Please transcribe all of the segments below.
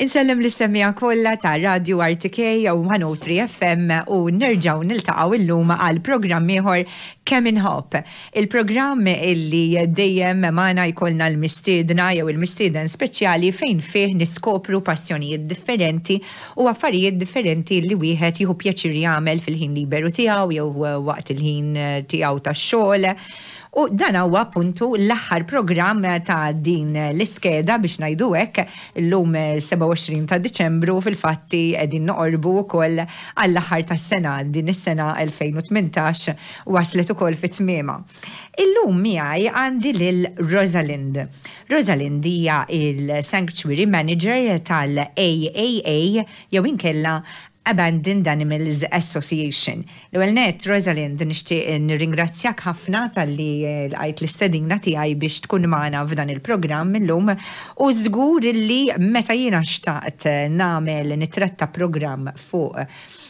Insellem lis-semmiegħa kollha ta' Radio RTK u 103 FM u nerġgħu niltaqgħu illum għal programm ieħor Kemm Inħobb. Il-programm illi dejjem magħna jkollna l-mistiedna jew il-mistieden speċjali fejn fih niskopru passjonijiet differenti u affarijiet differenti li wieħed jieħu pjaċir jagħmel fil-ħin liberu tiegħu jew waqt il-ħin tiegħu tax-xogħol. U dan huwa appuntu l-aħħar programm ta' din l-iskeda biex ngħidu hekk, illum 27 ta' Diċembru fil-fatti qegħdin noqorbu wkoll għall-aħħar tas-sena, din is-sena 2018 waslet ukoll fi tmiemha. Illum miegħi għandi lil Rosalind. Rosalind hija il-Sanctuary Manager tal-AAA jew inkella Abandoned Animals Association. L-ewwel nett, Rosalind, nixtieq nirringrazzjak ħafna talli lqajt l-istedina tiegħi biex tkun magħna f'dan il-programm illum u żgur li meta jiena xtaqt nagħmel nittratta programm fuq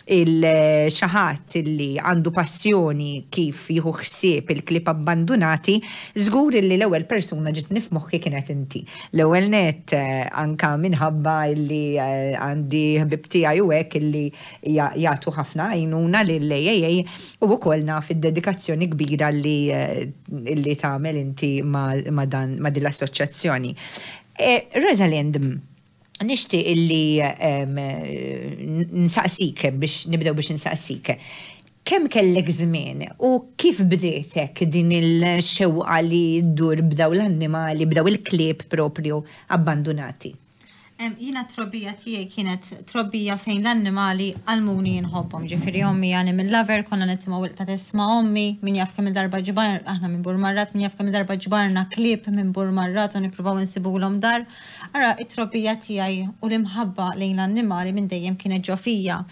il xi ħadd li għandu passjoni kif jieħu ħsieb il-klieb abbandunati, żgur li l-ewwel persuna ġietni f'moħħi kienet inti. L-ewwel nett anke minħabba li għandi ħbieb tiegħi u hekk illi jagħtu ħafna għajnuna lill-AAA u wkoll naf id-dedikazzjoni kbira li li tagħmel inti ma' dan ma' din l-assoċjazzjoni. Rosalind, nixtieq illi nsaqsik biex nibdew biex insaqsik. Kemm kellek żmien u kif bdietek din il-xewqa li ddur b'daw l-annimali, b'daw il-klieb proprju abbandunati? Jiena t-trobbija tiegħi kienet trobbija fejn l-annimali għallmuni nħobbhom. Ġifieri ommi animal lover, konna nitimgħu il-qtates ma' ommi, min jaf kemm il-darba ġbar, aħna minn Burmarrad, min jaf kemm il-darba ġbarna klieb minn Burmarrad u nippruvaw insibulhom dar. Ara, it-trobbija tiegħi u l-imħabba lejn l-annimali minn dejjem kienet ġo fija.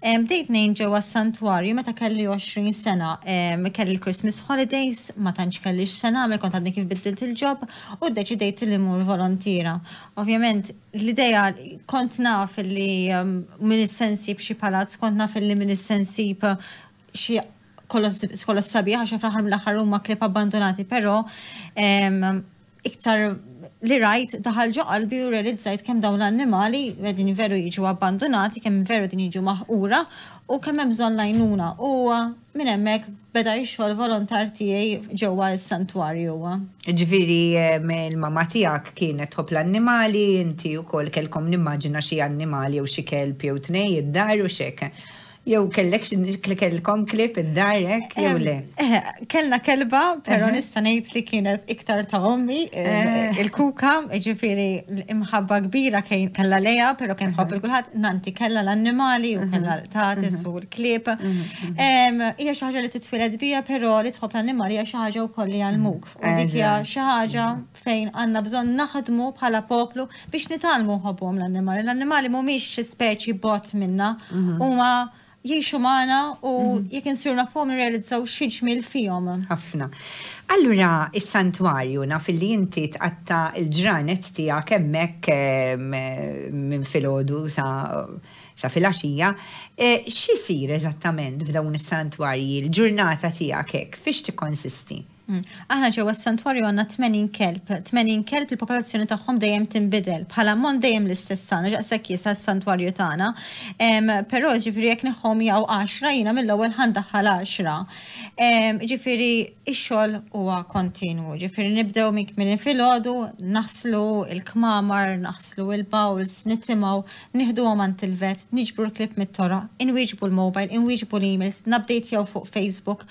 Bdejt ngħin ġewwa s-santwarju meta kelli 20 sena. Kelli l-Christmas holidays, ma tantx kelli x'se nagħmel, kont għadni kif biddilt il-job u ddeċidejt li mmur volontiera. Ovvjament, l-idea kont naf li min se nsib xi palazz, kont naf li min se nsib xi kollox sabiħ għax fl-aħħar mill-aħħar huma klieb abbandonati, però iktar li rajt daħal ġo qalbi u realizzajt kemm dawn l-annimali qegħdin veru jiġu abbandonati, kemm veru qegħdin jiġu maħqura u kemm hemm bżonn l-għajnuna. U minn hemmhekk beda x-xogħol volontar tiegħi ġewwa s-santwarju. Ġifieri il-mamma tiegħek kienet tħobb l-annimali, inti wkoll kellkom nimmaġina xi annimali jew xi kelb jew tnej id-dar u x'hekk. Jew kellek kellkom klieb id-dar hekk jew le? Kellna kelba, però nista' ngħid li kienet iktar ta' ommi, il-kuka, ġifieri imħabba kbira kellha lejha, però kien tħobb il kulħadd, nanti kellha l-annimali u kellha l-qtates u l-klieb. Hija xi ħaġa li titwieled biha, però li tħobb l-annimali hija xi ħaġa wkoll li jgħallmuk. U dik hija xi ħaġa fejn għandna bżonn naħdmu bħala poplu biex nitgħallmu nħobbuhom l-annimali. L-annimali mhumiex xi speċi bogħod minna, huma jgħixu magħna u jekk insiru nafuhom nirrealizzaw xi ġmiel fihom. Ħafna. Allura is-santwarju naf illi inti tqatta' l-ġranet tiegħek hemmhekk minn filgħodu sa sa filgħaxija. X'isir eżattament f'dawn is-santwarji, l-ġurnata tiegħek hekk fiex tikkonsisti? Aħna ġewwa s-santwarju għandna 80 kelb. 80 kelb il-popolazzjoni tagħhom dejjem tinbidel. Bħala ammont dejjem l-istess għandna, ġaqshekk jiesa s-santwarju tagħna. Però ġifieri jekk neħħhom jaqgħu għaxra jiena mill-ewwel ħa ndaħħal għaxra. Ġifieri x-xogħol huwa kontinwu. Ġifieri nibdew minn kmieni filgħodu, naħslu l-kmamar, naħslu l-bowls, nitimgħu, nieħduhom għand il-vet, niġbru l-klieb mit-toroq, inwieġbu l-mobile, inwieġbu l-emails, nupdatjaw fuq Facebook.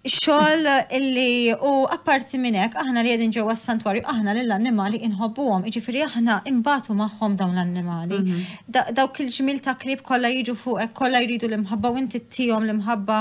Xogħol illi u apparti minn hekk aħna li qegħdin ġewwa s-santwarju aħna lill-annimali inħobbuhom, jiġifieri aħna inbatu magħhom dawn l-annimali. Dawk il-ġmiel ta' klieb kollha jiġu fuqek, kollha jridu l-imħabba u inti ttihom l-imħabba.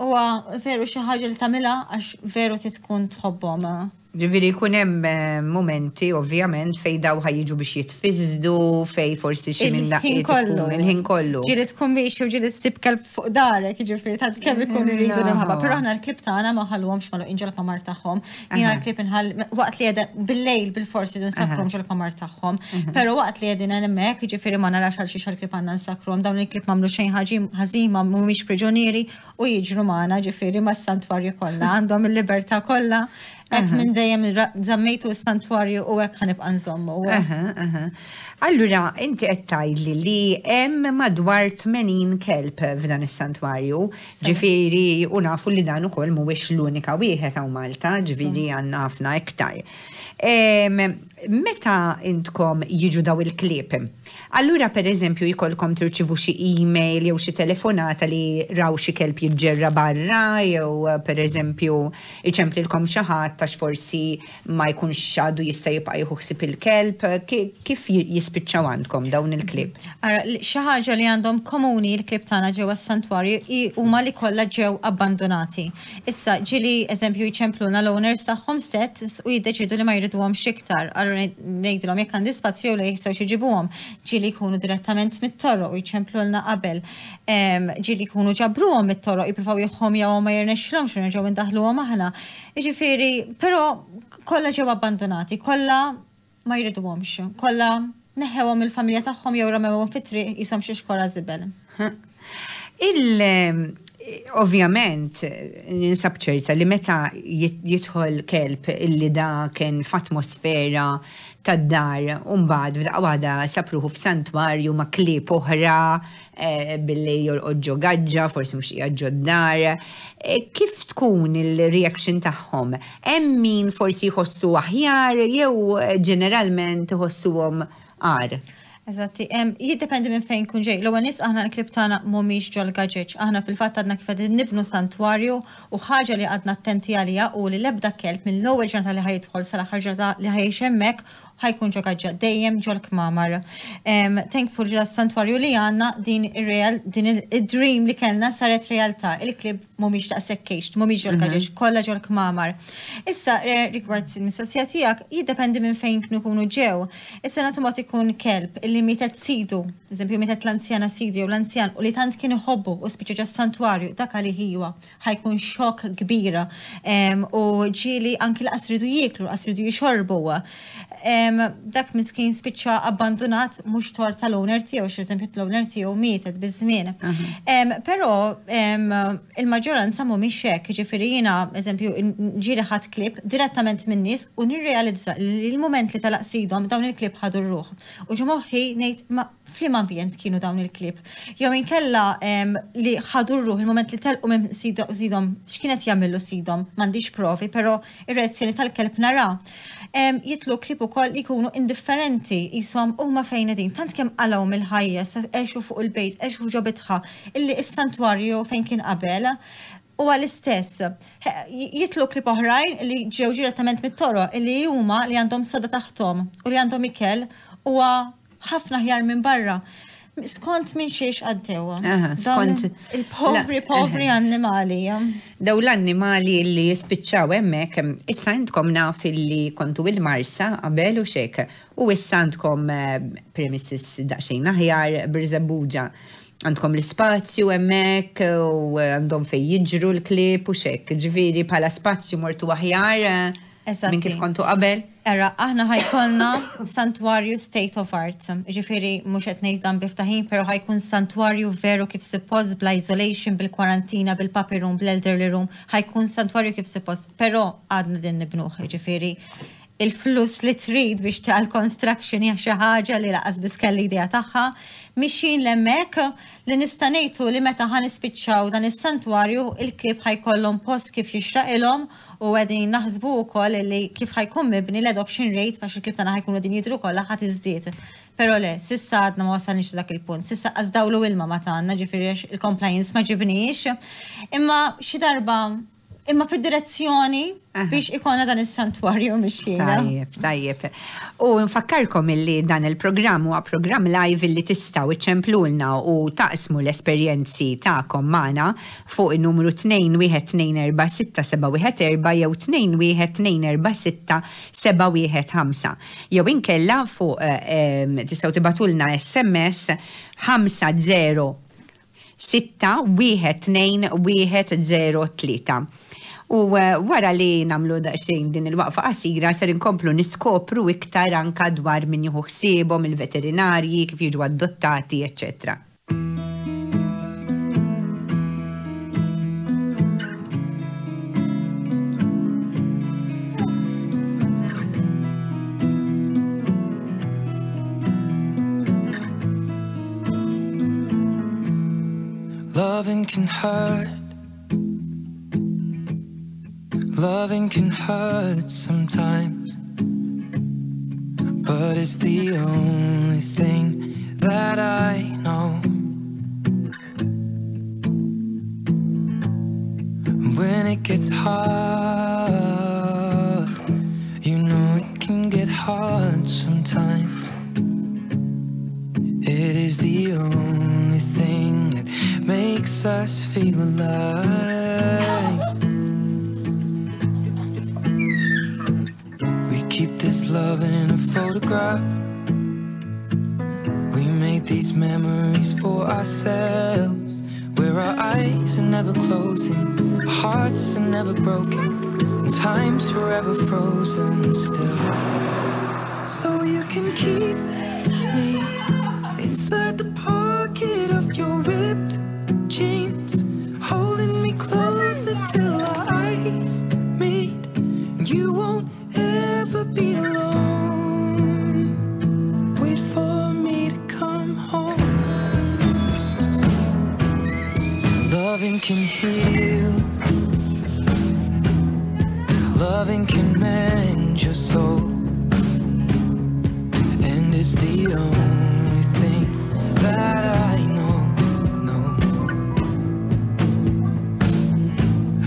Huwa veru xi ħaġa li tagħmilha għax veru trid tkun tħobbhom. Ġifieri jkun hemm mumenti ovvjament fejn daw ħa jiġu biex jitfiżdu, fejn forsi xi minn daqqiet ikun il-ħin kollu. Ġieli tkun miexi u ġieli ssib kelb fuq darek, jiġifieri tant kemm ikun iridu l-imħabba. Però aħna l-klieb tagħna ma nħalluhomx magħluqin ġol-kmamar tagħhom. Jiena l-klieb inħalli waqt li qegħda bil-lejl bilfors iridu nsakkruhom ġol-kmamar tagħhom. Però waqt li qegħdin hemmhekk, jiġifieri ma narax għal xiex għall-klieb għandna nsakkruhom. Dawn il-klieb m'għamlu xejn ħażin, mhumiex priġunieri u jiġru magħna, ġifieri mas-santwarju kollha, għandhom il-libertà kollha. Hekk minn dejjem żammejtu s-santwarju u hekk ħa nibqa' nżommu. Allura, inti qed tgħidli li hemm madwar 80 kelb f'dan is-santwarju, ġifieri u nafu li dan ukoll mhuwiex l-unika wieħed hawn Malta, ġifieri għandna ħafna iktar. Meta intkom jiġu daw il-klieb, allura pereżempju jkollkom tirċivu xi email jew xi telefonata li raw xi kelb jiġġerra barra jew pereżempju iċemplilkom xi ħadd għax forsi ma jkunx għadu jista' jibqa' jieħu ħsieb il-kelb, kif jispiċċaw għandkom dawn il-klieb? Ara, xi ħaġa li għandhom komuni l-klieb tagħna ġewwa s-santwarju hi huma li kollha ġew abbandunati. Issa, ġieli eżempju jċemplulna l-owners tagħhom stess u jiddeċiedu li ma jriduhomx iktar. Allura ngħidilhom jekk għandi spazju jew le jistgħux iġibuhom. Ġieli jkunu direttament mit-toroq u jċemplulna qabel. Ġieli jkunu ġabruhom mit-toroq jippruvaw jiħħomjawhom ma jirnexxilhomx u nerġgħu indaħħluhom aħna. Jiġifieri, però kollha ġew abbandunati, kollha ma jriduhomx, kollha neħħewhom mill-familja tagħhom jew ramewhom fit-triq qishom xi xkora żibel. Il ovvjament ninsab ċerta li meta jidħol kelb illi da kien f'atmosfera tad-dar u mbagħad f'daqqa waħda sab ruħu f'santwarju ma' klieb oħra billi jorqod ġo gaġġa, forsi mhux qiegħed ġo d-dar. Kif tkun il-reaction tagħhom? Hemm min forsi jħossu aħjar jew ġeneralment iħossuhom agħar? Eżatti, jiddependi minn fejn kun ġej. L-ewwel nies aħna l-klieb tagħna mhumiex ġol-gaġeġ. Aħna fil-fatt għadna kif qegħdin nibnu santwarju u ħaġa li għadna attenti għaliha u li l-ebda kelb mill-ewwel ġurnata li ħa jidħol sal-aħħar ġurnata li ħa jgħix hemmhekk ħa jkun ġo gaġġa, dejjem ġol-kmamar. Thankful ġo santwarju li għandna din ir-real, din id-dream li kellna saret realtà. Il-klieb mhumiex daqshekk caged, mhumiex ġol-gaġeġ, kollha ġol-kmamar. Issa, rigward il-mistoqsija tiegħek, jiddependi minn fejn kienu jkunu ġew. Issa nagħtu mod ikun kelb illi mietet sidu, eżempju mietet l-anzjana sidu jew l-anzjan u li tant kien iħobbu u spiċċa ġas-santwarju, dak għalih iwa. Ħa jkun xokk kbir u ġieli anki laqas ridu jieklu, laqas ridu jixorbu. Dak miskin spiċċa abbandunat mhux tort tal-owner tiegħu, xi eżempju l-owner tiegħu mietet biż-żmien. Però il-maġġoranza mhumiex hekk, jiġifieri jiena eżempju ġieli ħadt klieb direttament min-nies u nirrealizza li l-mument li telaq sidhom dawn il-klieb ħadu r-ruħ. U ġo moħħi ngħid ma F'liema ambjent kienu dawn il-klieb? Jew inkella li ħadu r-ruħ il-mument li telqu minn sidhom, x'kien qed jagħmillu sidhom? M'għandix provi, però ir-reazzjoni tal-kelb nara. Jidħlu klieb ukoll li jkunu indifferenti, qishom huma fejn qegħdin. Tant kemm qalgħu mill-ħajja, sa għexu fuq il-bejt, għexu ġo bitħa, illi s-santwarju fejn kien qabel huwa l-istess. Jidħlu klieb oħrajn li ġew direttament mit-toroq, illi huma li għandhom soda taħthom u li għandhom ikel huwa ħafna aħjar minn barra. Skont minn xiex għaddew. Skont il-povri, povri annimali. Daw l-annimali li jispiċċaw hemmhekk, issa intkom naf li kontu il-Marsa qabel u xek, u issa għandkom eh, premises daqsxejn aħjar Birżebbuġa. Għandkom l-ispazju hemmhekk u għandhom fejn jiġru l-klieb u xek. Ġifieri bħala spazju mortu aħjar. Eh, Minn kif kontu qabel? Era, aħna ħa jkollna santwarju state of art. Ġifieri, mhux qed ngħid dan bi ftaħir, però ħa jkun santwarju veru kif suppost, bl-isolation, bil-kwarantina, bil-puppy room, bl-elderly room, ħa jkun santwarju kif suppost, però għadna din nibnuh, ġifieri, il-flus li trid biex tagħmel construction hija xi ħaġa li lanqas biss kelli idea tagħha. Mixjin l'hemmhekk li nista' ngħid hu li meta ħa nispiċċaw dan is-santwarju il-klieb ħa jkollhom post kif jixraqilhom U qegħdin naħsbu wkoll li kif ħa jkun mibni l-adoption rate għax il-klieb tagħna ħa jkunu qegħdin jidhru kollha ħa tiżdied. Però le, s'issa għadna ma wasalniex dak il-punt. S'issa qas dawl u ilma ma tagħna, ġifieri għax il-compliance ma ġibniex. Imma xi darba imma fid-direzzjoni biex ikollna dan is-santwarju mixjina. Tajjeb, tajjeb. U nfakkarkom illi dan il-programm huwa programm live illi tistgħu iċċemplulna u taqsmu l-esperjenzi tagħkom magħna fuq in-numru 2124674 jew 21246 715 jew inkella fuq tistgħu tibagħtulna SMS 50 6 1 2 1 0 3. U wara li nagħmlu daqsxejn din il-waqfa qasira ser inkomplu niskopru iktar anka dwar min jieħu ħsiebhom, il-veterinarji, kif jiġu adottati, eċċetera. Loving can hurt. Loving can hurt sometimes. But it's the only thing that I know. When it gets hard, you know it can get hard sometimes. It is the only thing that makes us feel alive. We keep this love in a photograph. We made these memories for ourselves, where our eyes are never closing, our hearts are never broken, and time's forever frozen still. So you can keep me inside the pocket of your ripped jeans, holding me closer till our eyes meet. You won't ever be alone. Wait for me to come home. Loving can heal. Loving can mend your soul. And it's the only thing that I know, no.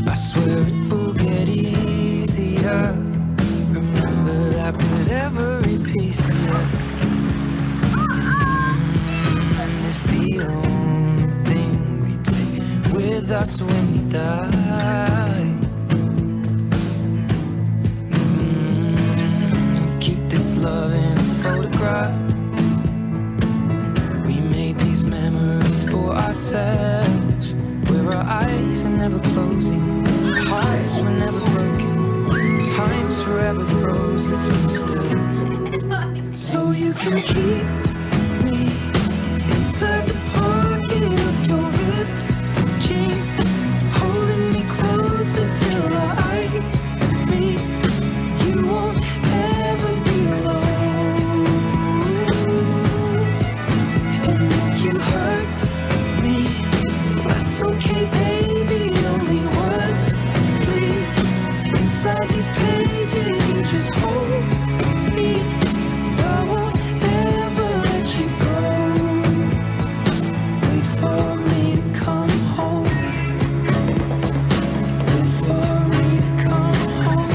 I swear it will get easier. Remember that with every piece of you. And it's the only thing we take with us when we die. Keep this love in a photograph. We made these memories for ourselves, where our eyes are never closing, our hearts were never broken, time's forever frozen still. So you can keep me inside the pocket of your ripped jeans, holding me closer till our eyes meet. You won't ever be alone. And if you hurt me, that's okay, baby. Only words bleed inside these pages. You just hold me. I won't ever let you go. Wait for me to come home. Wait for me to come home.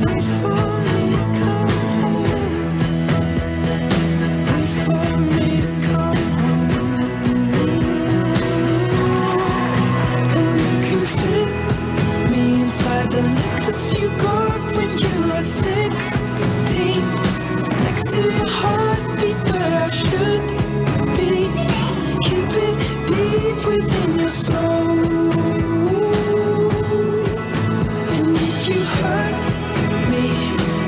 Wait for me to come home. Wait for me to come home. And you can fit me inside the necklace you got when you were 16. Next to your heartbeat where I should be. Keep it deep within your soul. And if you hurt me,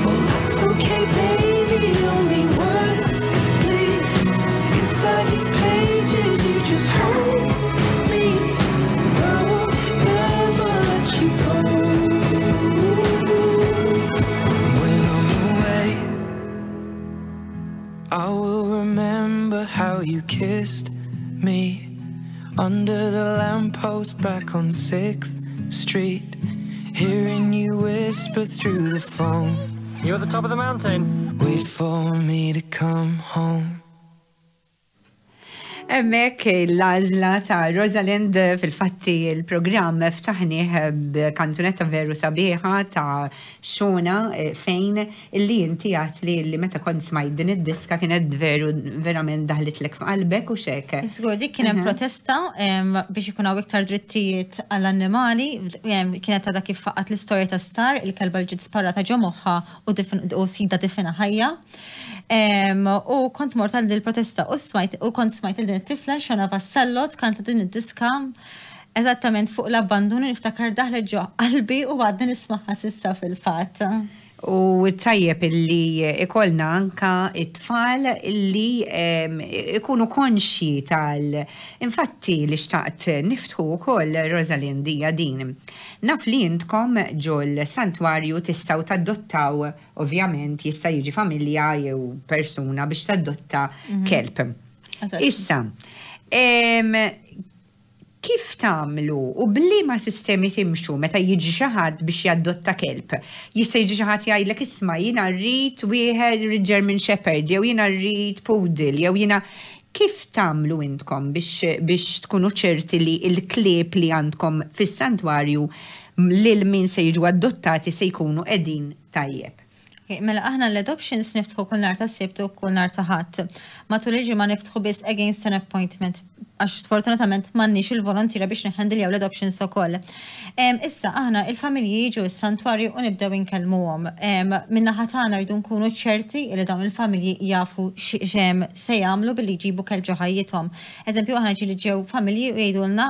well that's okay, baby. Only words bleed inside these pages. You just hold me, and I won't ever let you go. When I'm away, I will remember how you kissed me under the lamppost back on 6th Street, hearing you whisper through the phone. You're at the top of the mountain. Wait for me to come home. Hemmhekk l-għażla ta' Rosalind. Fil-fatti il-programm ftaħnieh b'kanzunetta veru sabiħa ta' Xona fejn illi inti għat li meta kont smajt din id-diska kienet veru verament daħlitlek f'qalbek u xek. Żgur, dik kien hemm protesta biex ikun hawn iktar drittijiet għall-annimali, kienet għadha kif faqgħet l-istorja ta' Star, il-kelba li ġiet sparata ġo moħħha u sidha difina ħajja. U kont mort għal il-protesta u smajt u kont smajt il din it-tifla Xona Vassallo kanta din id-diska eżattament fuq l-abbandun, niftakar daħlet ġo qalbi u għadni nismagħha s'issa fil-fatt. U tajjeb illi ikollna anka it-tfal illi ikunu konxji tal. Infatti li xtaqt niftħu wkoll, Rosalind, hija din. Naf li intkom ġol santwarju tistgħu tadottaw, ovvjament jista' jiġi familja jew persuna biex tadotta kelb. Issa, Kif tagħmlu u b'liema sistemi timxu meta jiġi xi ħadd biex jaddotta kelb? Jista' jiġi xi ħadd jgħidlek, "Isma', jiena rrid wieħed, rrid German Shepherd, jew jiena rrid Poodle, jew jiena." Kif tagħmlu intkom biex tkunu ċerti li l-klieb li għandkom fis-santwarju lil min se jiġu adottati se jkunu qegħdin tajjeb? Mela aħna l-adoptions niftħu kull nhar ta' Sibt u kull nhar ta' Ħadd. Matul il-ġimgħa niftħu biss against an appointment għax sfortunatament m'għandniex il-volontiera biex niħendiljaw l-adoptions ukoll. Issa aħna il-familji jiġu s-santwarju u nibdew inkellmuhom. Min-naħa tagħna rridu nkunu ċerti li dawn il-familji jafu se jagħmlu billi jġibu kelb ġo ħajjithom. Eżempju, aħna ġieli ġew familji u jgħidulna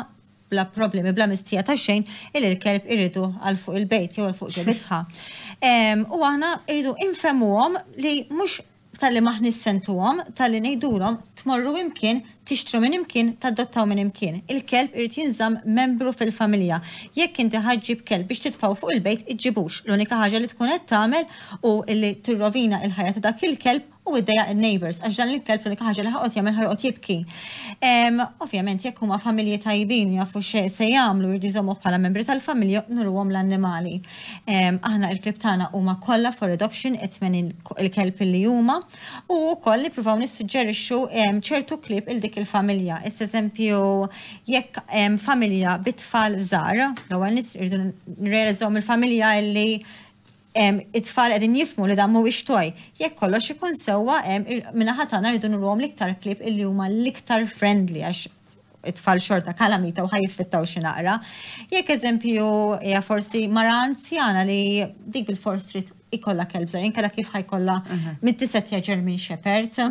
bla problemi, bla mistija ta' xejn, illi l-kelb iridu għal fuq il-bejt jew għal fuq ġo bitħa. U aħna rridu infehmuhom li mhux talli m'aħniex se ntuhom, talli ngħidulhom tmorru imkien, tixtru minn imkien, tadottaw minn imkien. Il-kelb irid jinżamm membru fil-familja. Jekk inti ħa ġġib kelb biex titfgħu fuq il-bejt, iġġibux. L-unika ħaġa li tkun qed tagħmel hu li tirrovina il-ħajja ta' dak il-kelb u iddejjaq il-neighbors, għax dan il-kelb l-unika ħaġa li ħa joqgħod jagħmel, ħa joqgħod jibki. Ovvjament, jekk huma familji tajbin, jafu se jagħmlu, jridu jżommuh bħala membri tal-familja, nuruhom l-annimali. Aħna il-klieb tagħna huma kollha for adoption, it-80 il-kelb li huma, u wkoll nippruvaw nissuġġerixxu ċertu klieb il dik il-familja. Issa eżempju, jekk familja bit-tfal żgħar, l-ewwel nies irridu nirrealizzaw mill-familja illi it-tfal qegħdin jifhmu li dan mhuwiex toy. Jekk kollox ikun sewwa, min-naħa tagħna rridu nuruhom l-iktar klieb illi huma l-iktar friendly, għax it-tfal xorta kalamita u ħa jiffittaw xi naqra. Jekk eżempju hija forsi mara anzjana li dik bil-fors trid ikollha kelb żgħir, inkella kif ħa jkollha mit-tisetja German Shepherd. U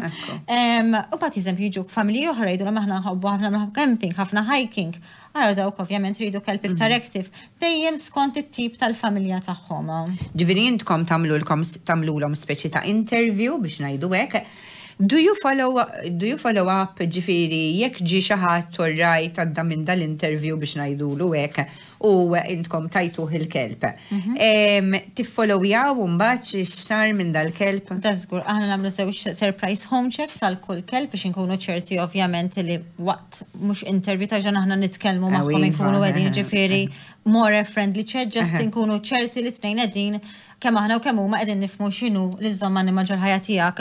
mbagħad eżempju jiġuk familji oħra jgħidu aħna nħobbu ħafna camping, ħafna hiking. Ara dawk ovvjament ridu kelb iktar active, dejjem skont it-tip tal-familja tagħhom. Ġifieri intkom tagħmlulhom speċi ta' interview, biex ngħidu hekk. Do you follow up, ġifieri jekk ġi xi ħadd, right, għadda minn dal-interview, biex ngħidulu hekk, u intkom tajtuh il-kelb? Tiffollowjaw mbagħad x'sar minn dal-kelb? Dażgur, aħna nagħmlu żewġ surprise home checks għal kull kelb biex inkunu ċerti ovvjament li waqt mhux interview ta' ġan aħna nitkellmu magħhom, inkunu qegħdin, ġifieri more friendly chat, just inkunu ċerti li tnejn qegħdin, kemm aħna u kemm huma, qegħdin nifhmu x'inhu li żżomm annimal ġol-ħajja tiegħek.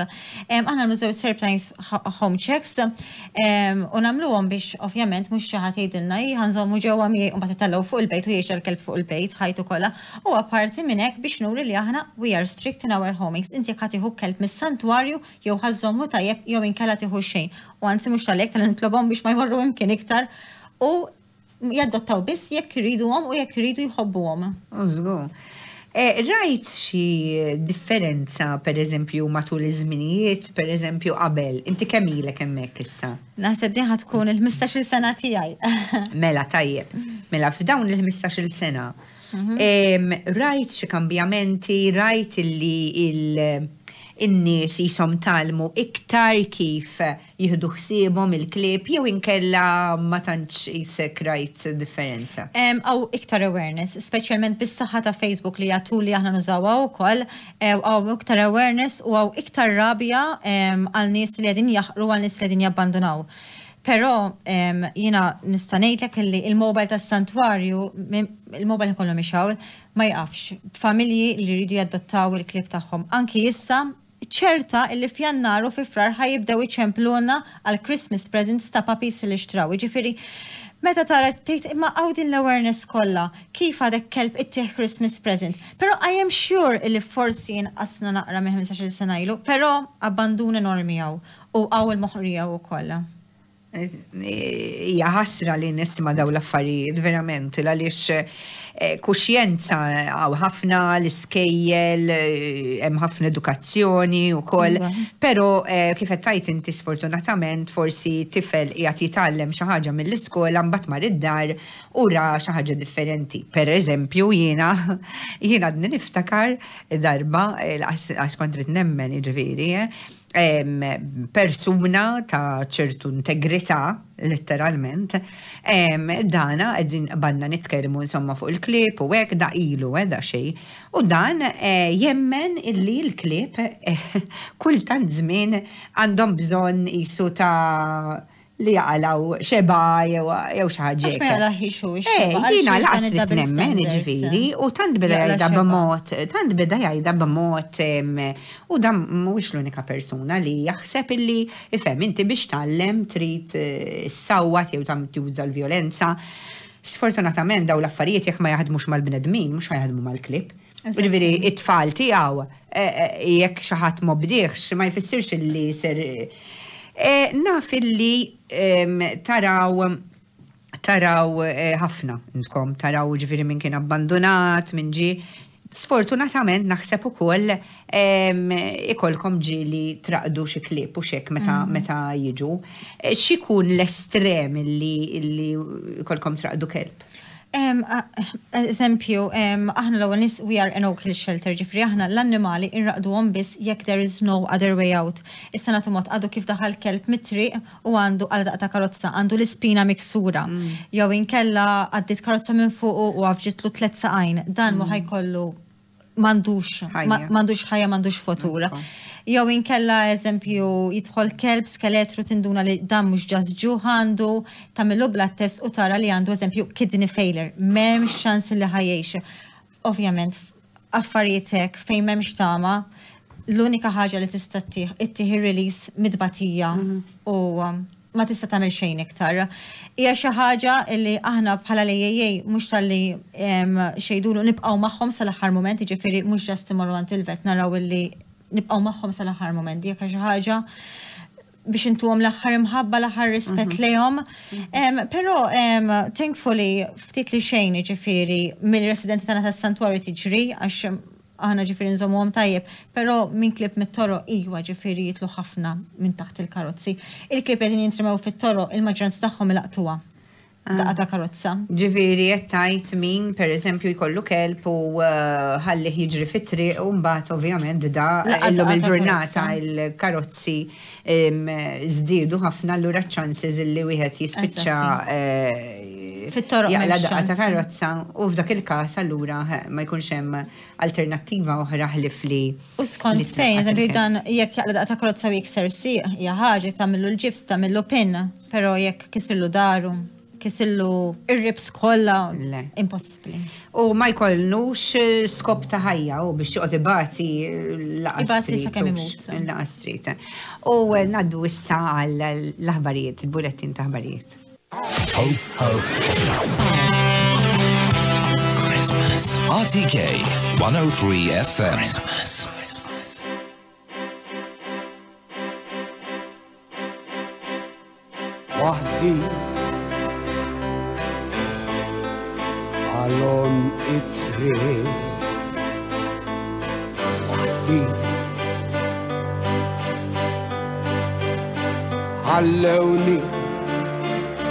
Aħna nagħmlu żewġ surprise home checks u nagħmluhom biex ovvjament mhux xi ħadd jgħidilna, "Ħa nżommu ġewwa miegħi", u mbagħad itellgħu fuq il-bejt u jgħix il-kelb fuq il-bejt ħajtu kollha. U apparti minn hekk biex nuri li aħna we are strict in our homings. Inti jekk ħa tieħu kelb mis-santwarju, jew ħa żżommu tajjeb jew inkella tieħu xejn. U anzi mhux tal-hekk tal nitlobhom biex ma jmorru imkien iktar u jadottaw biss jekk iriduhom u jekk iridu jħobbuhom. Żgur. Rajt xi differenza, per eżempju, matul iż-żminijiet, per eżempju, qabel? Inti kemm ilek hemmhekk issa? Naħseb din ħa tkun il-15-il sena tiegħi. Mela tajjeb. Mela f'dawn il-15-il sena, rajt xi kambjamenti, rajt illi in-nies jisom tgħallmu iktar kif jieħdu ħsiebhom il-klieb jew inkella ma tantx jisek rajt differenza? Hawn iktar awareness, speċjalment bis-saħħa ta' Facebook li għatu li aħna nużawha wkoll, hawn iktar awareness u hawn iktar rabja għal nies li qegħdin jaħqru, għal nies li qegħdin jabbandunaw. Però jiena nista' ngħidlek li il-mobile tas-santwarju, il-mobile kollu mixgħul, ma jaqafx. Familji li jridu jadottaw il-klieb tagħhom. Anki issa ċerta illi f'Jannar u fi Frar ħa jibdew iċempluna għal Christmas presents ta' puppies li xtraw. Ġifieri, meta tara tgħid, imma hawn din l-awareness kollha, kif għadek kelb ittih Christmas present? Però I am sure illi forsi jinqasna naqra minn 15 sena ilu, però abbandun enormi hawn u hawn il-moħqrija wkoll. Hija ħasra li nisma' daw l-affarijiet verament, għaliex kuxjenza hawn ħafna l-iskejjel, hemm ħafna edukazzjoni wkoll, però kif qed tgħid inti, sfortunatament forsi tifel qiegħed jitgħallem xi ħaġa mill-iskola, mbagħad mar id-dar u ra xi ħaġa differenti. Per eżempju, jiena għadni niftakar darba, għax kont rrid nemmen, jiġifieri, persuna ta' ċertu integrità, letteralment, dana qegħdin banna nitkellmu insomma fuq il-klieb u hekk, da ilu, da xej. U dan jemmen illi l-klieb kultant żmien għandhom bżonn jisu ta' li jaqalgħu xeba jew xi ħaġa. Għax ma jaqlaħiex hu x-xeba. Eh, jiena laqas trid nemmen ġifieri u tant beda jgħidha b'mod, tant beda jgħidha b'mod u dan mhuwiex l-unika persuna li jaħseb illi ifhem inti biex tgħallem trid eh, ssawwat jew tam tuża l-vjolenza. Sfortunatament daw l-affarijiet jekk ma jaħdmux mal-bnedmin, mhux ħajaħdmu mal-klieb. Ġifieri it-tfal tiegħu eh, eh, jekk xi ħadd m'obdihx ma jfissirx illi ser eh, naf illi taraw taraw ħafna intkom, taraw ġifieri minn kien abbandonat, minn ġi. Sfortunatament naħseb ukoll ikolkom ġieli traqdu xi klieb u xek meta mm. meta jiġu. X'ikun l-estrem illi ikolkom traqdu kelb? Eżempju, aħna l-ewwel nies we are an no-kill shelter, ġifieri aħna l-annimali inraqduhom biss jekk there is no other way out. Issa nagħtu mod għadu kif daħal kelb mit-triq u għandu għal daqqa ta' karozza, għandu l-ispina miksura. Mm. Jew inkella għaddiet karozza minn fuqu u għafġitlu tliet saqajn. Dan mm. ħa jkollu m'għandux m'għandux ħajja m'għandux futur. Jew inkella eżempju jidħol kelb skeletru tinduna li dan mhux just ġuħ għandu, tagħmillu blood test u tara li għandu eżempju kidney failure, m'hemmx ċans li ħa jgħix. Ovvjament affarijiet hekk fejn m'hemmx tama, l-unika ħaġa li tista' ittih release mid-batija mhm. u ma tista' tagħmel xejn iktar. Hija xi ħaġa li aħna bħala l-AAA mhux talli xejdulu nibqgħu magħhom sal-aħħar moment, jiġifieri mhux just imorru għand il-vet naraw illi nibqgħu magħhom sal-aħħar moment. Jekk xi ħaġa biex intuhom l-aħħar imħabba, l-aħħar rispett mhm. lejhom. Però thankfully ftit li xejn jiġifieri mill-residenti tagħna tas-santwarju tiġri għax aħna ġifieri nżommuhom tajjeb, però minn klieb mit-toroq iwa ġifieri jitlu ħafna minn taħt il-karozzi. Il-klieb qegħdin jintremew fit-toroq il-maġġoranza tagħhom ilaqtuha daqqa ta' karozza. Ġifieri qed tgħid min pereżempju jkollu kelb u eh, ħallih jiġri fit-triq u mbagħad ovvjament da illum il-ġurnata il-karozzi żdiedu ħafna allura ċ-chances illi wieħed jispiċċa eh, fit-toroq jaqla daqqa ta' karozza u f'dak il-każ allura eh, ma jkunx hemm alternattiva oħra ħlief li. U skont fejn, eżempju dan jekk jaqla daqqa ta' karozza u jikser sieq, hija ħaġa tagħmillu l-ġibs, tagħmillu pin, però jekk kisirlu daru, kisirlu ir-ribs kollha, impossibbli. U ma jkollux eh, skop ta' ħajja u biex joqgħod ibati eh, Ibati sakemm imut. Laqas trid. U eh, ngħaddu issa għal l-aħbarijiet, il-bulettin ta' aħbarijiet. Ho, ho. Christmas. RTK 103 FM. Christmas. Waħdi għalon it-triq Waħdi Ħallewni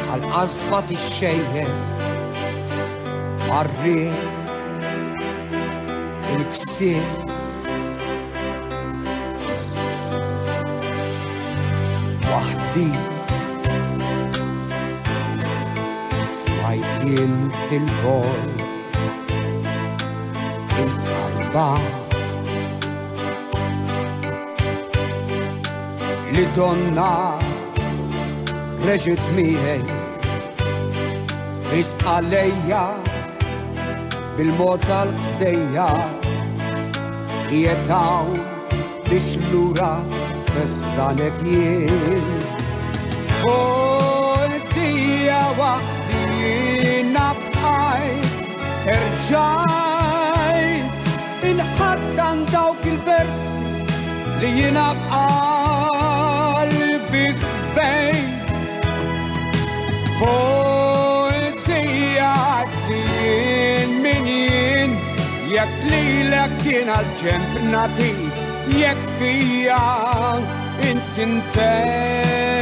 għal qasba tixxejjen marri il-ksir Waħdi Smajt jien fil-bord il-karba li donna reġit miegħi risq għalejja bil-mod tal-ħdejja qiegħed hawn biex lura f'danek jien. Polizija waħdi jiena bqajt erġajt inħaddan dawk il-versi li jiena f'qalbi ħbejt. Poezija li jien min jien jekk lilek kien għal-ġemp nagħtik jekk fija inti ntej.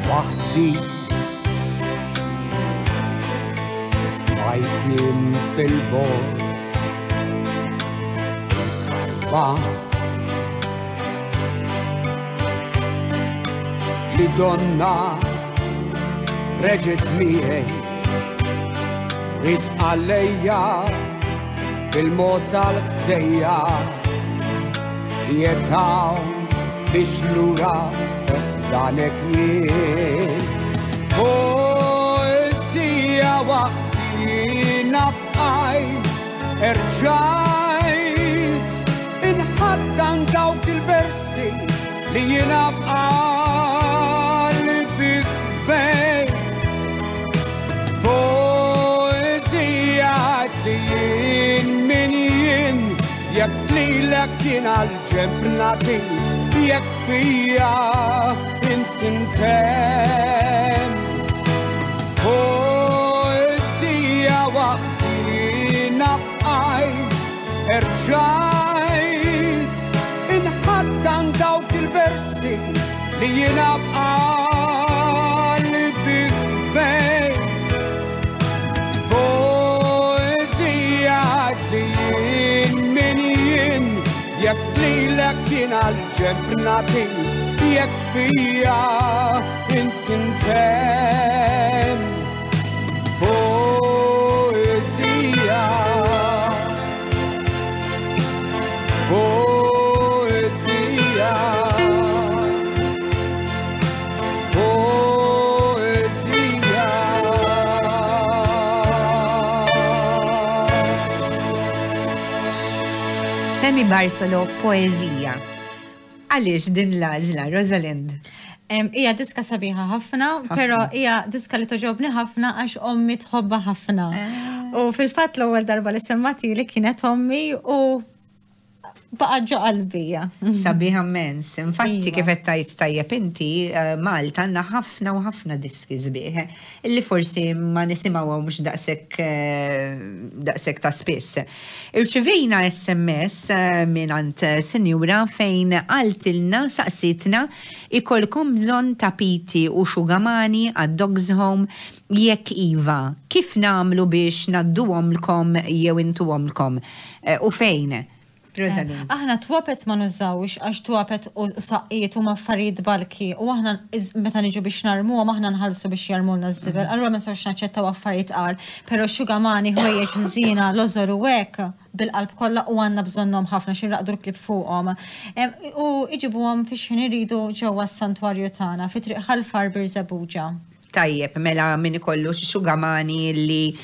Waħdi Smajt jien fil-bogħod il-karba li donna reġgħet miegħi. Risqa lejja bil-mod tal-ħdejja Qiegħed hawn biex lura fi ħdanek jien. Poezija waqt jiena bqajt erġajt inħaddan dawk il-versi li jiena f'qalbi ħbejt. Poezija li jien min jien jekk lilek jien għal-ġenb nagħtik jekk fija int intemm. Poezija waqt jiena bqajt erġajt inħaddan dawk il-versi li jiena f'qalbi ħbejt. Poezija li jien min jien jekk lilek jien għal-ġenb nagħtik jekk fija int intemm. Poezija Poezija Poezija Sammy Bartolo, Poezija. Għaliex din l-għażla, Rosalind? Hija diska sabiħa ħafna, però hija diska li toġobni ħafna għax ommi tħobbha ħafna. U fil-fatt l-ewwel darba li semmatili kienet ommi u baqa' ġo qalbi. Sabiħa immens. Infatti kif qed tgħid tajjeb inti, Malta għandna ħafna u ħafna diski sbieħ illi forsi ma nisimgħuhomx daqshekk daqshekk ta' spiss. Irċivejna SMS mingħand sinjura fejn qaltilna, saqsietna, ikollkom bżonn tapiti u xugamani għad-Dogs Home? Jekk iva, kif nagħmlu biex ngħadduhomlkom jew intuhomlkom? U fejn? Rosalind. Aħna twapet ma nużawx għax twapet u saqqijiet huma affarijiet balki u aħna meta niġu biex narmuhom aħna nħallsu biex jarmulna ż-żibel. Allura ma nistgħux naċċettaw affarijiet qal, però xugamani, ħwejjeġ ħżiena, lożor u hekk bil-qalb kollha u għandna bżonnhom ħafna xi nraqdu l-klieb fuqhom. U iġibuhom fi x'ħin iridu ġewwa s-santwarju tagħna fi Triq Ħal Far Birżebbuġa. Tajjeb, mela min ikollu xi xugamani li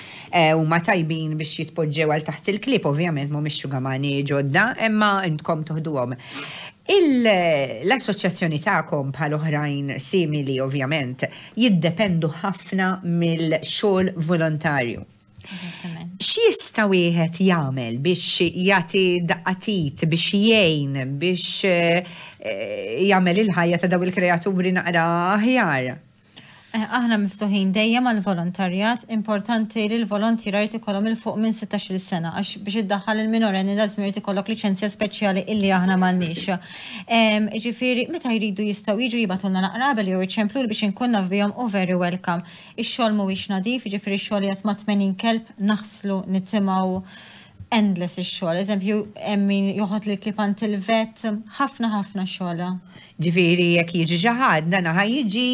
huma tajbin biex jitpoġġew għal taħt il-klieb, ovvjament mhumiex xugamani ġodda, imma intkom toħduhom. L-assoċjazzjoni tagħkom bħal oħrajn simili ovvjament jiddependu ħafna mill-xogħol volontarju. X'jista' wieħed jagħmel biex jagħti daqqa t'id, biex jgħin, biex jagħmel il-ħajja ta' dawn il-kreaturi naqra aħjar? Aħna miftuħin dejjem għall-volontarjat, importanti li l-volontiera jrid ikollhom 'il fuq minn 16-il sena għax biex iddaħħal il-minorenni lazim irid ikollok liċenzja speċjali illi aħna m'għandniex. Jiġifieri meta jridu jistgħu jiġu jibgħatulna naqra qabel jew iċempluli biex inkun naf bihom u very welcome. Ix-xogħol mhuwiex nadif, jiġifieri x-xogħol qiegħed ma' 80 kelb naħslu, nitimgħu, endless ix-xogħol. Eżempju, hemm min joħod lill-klieb għand il-vet, ħafna ħafna xogħol. Ġifieri jekk jiġi xi ħadd, dan ħa jiġi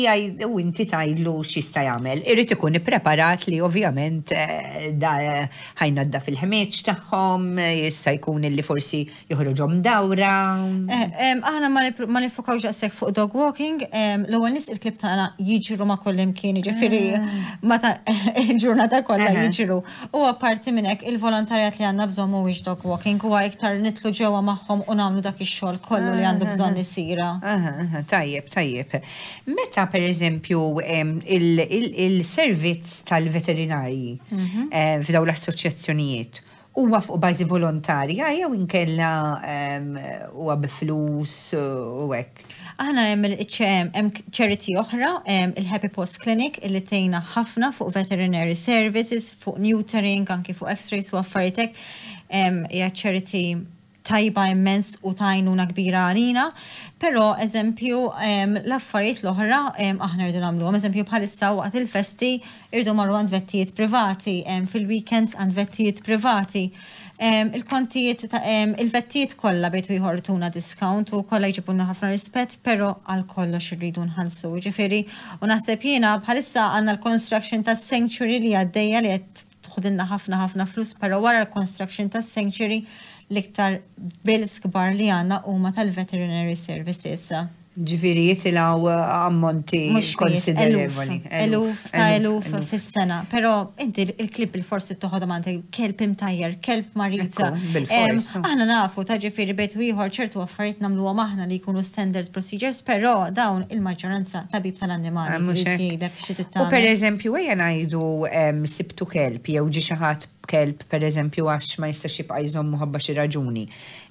u inti tgħidlu x'jista' jagħmel. Irid ikun ippreparat li ovvjament da ħa jnaddaf il-ħmieġ tagħhom, jista' jkun illi forsi joħroġhom dawra. Aħna ma nifukawx daqshekk fuq dog walking, l-ewwel nies il-klieb tagħna jiġru ma' kullimkien, jiġifieri meta il-ġurnata kollha jiġru. U apparti minn hekk il-volontarjat li għandna bżonn mhuwiex dog walking, huwa iktar nitlu ġewwa magħhom u nagħmlu dak ix-xogħol kollu li għandu bżonn isir. Tajjeb, tajjeb. Meta pereżempju il-servizz tal-veterinarji f'dawn l-assoċjazzjonijiet huwa fuq bażi volontarja jew inkella huwa bi flus u hekk? Aħna hemm charity oħra, il-Happy Post Clinic, illi tgħinna ħafna fuq veterinary services, fuq neutering, anki fuq x-rays u affarijiet hekk. Hija charity tajba immens u tajnuna kbira għalina, però eżempju l-affarijiet l-oħra aħna rridu nagħmluhom. Eżempju bħalissa waqt il-festi irridu marru għand vettijiet privati, fil-weekends għand vettijiet privati. Il-kontijiet ta' il-vettijiet kollha bejtu jħortuna discount u kollha jġibulna ħafna rispett, però għal kollox irridu nħallsu. Ġifieri, u naħseb jiena bħalissa għandna l-construction tas-sanctuary li għaddejja li qed Toħdilna ħafna ħafna flus, però wara l-construction tas-sanctuary l-iktar bills kbar li għandna huma tal-veterinary services. Ġifieri jitilgħu ammonti konsiderevoli. Eluf ta' eluf fis-sena. Però inti il-klieb bil-forsi toħodhom għandek kelb imtajjar, kelb marid. Aħna nafu ta' ġifieri bejt u ieħor ċertu affarijiet nagħmluhom aħna li jkunu standard procedures, però dawn il-maġġoranza tabib tal-annimali. U per eżempju, ejja ngħidu sibtu kelb jew ġie xi ħadd b'kelb pereżempju għax ma jistax jibqa' jżommu ħabba xi raġuni.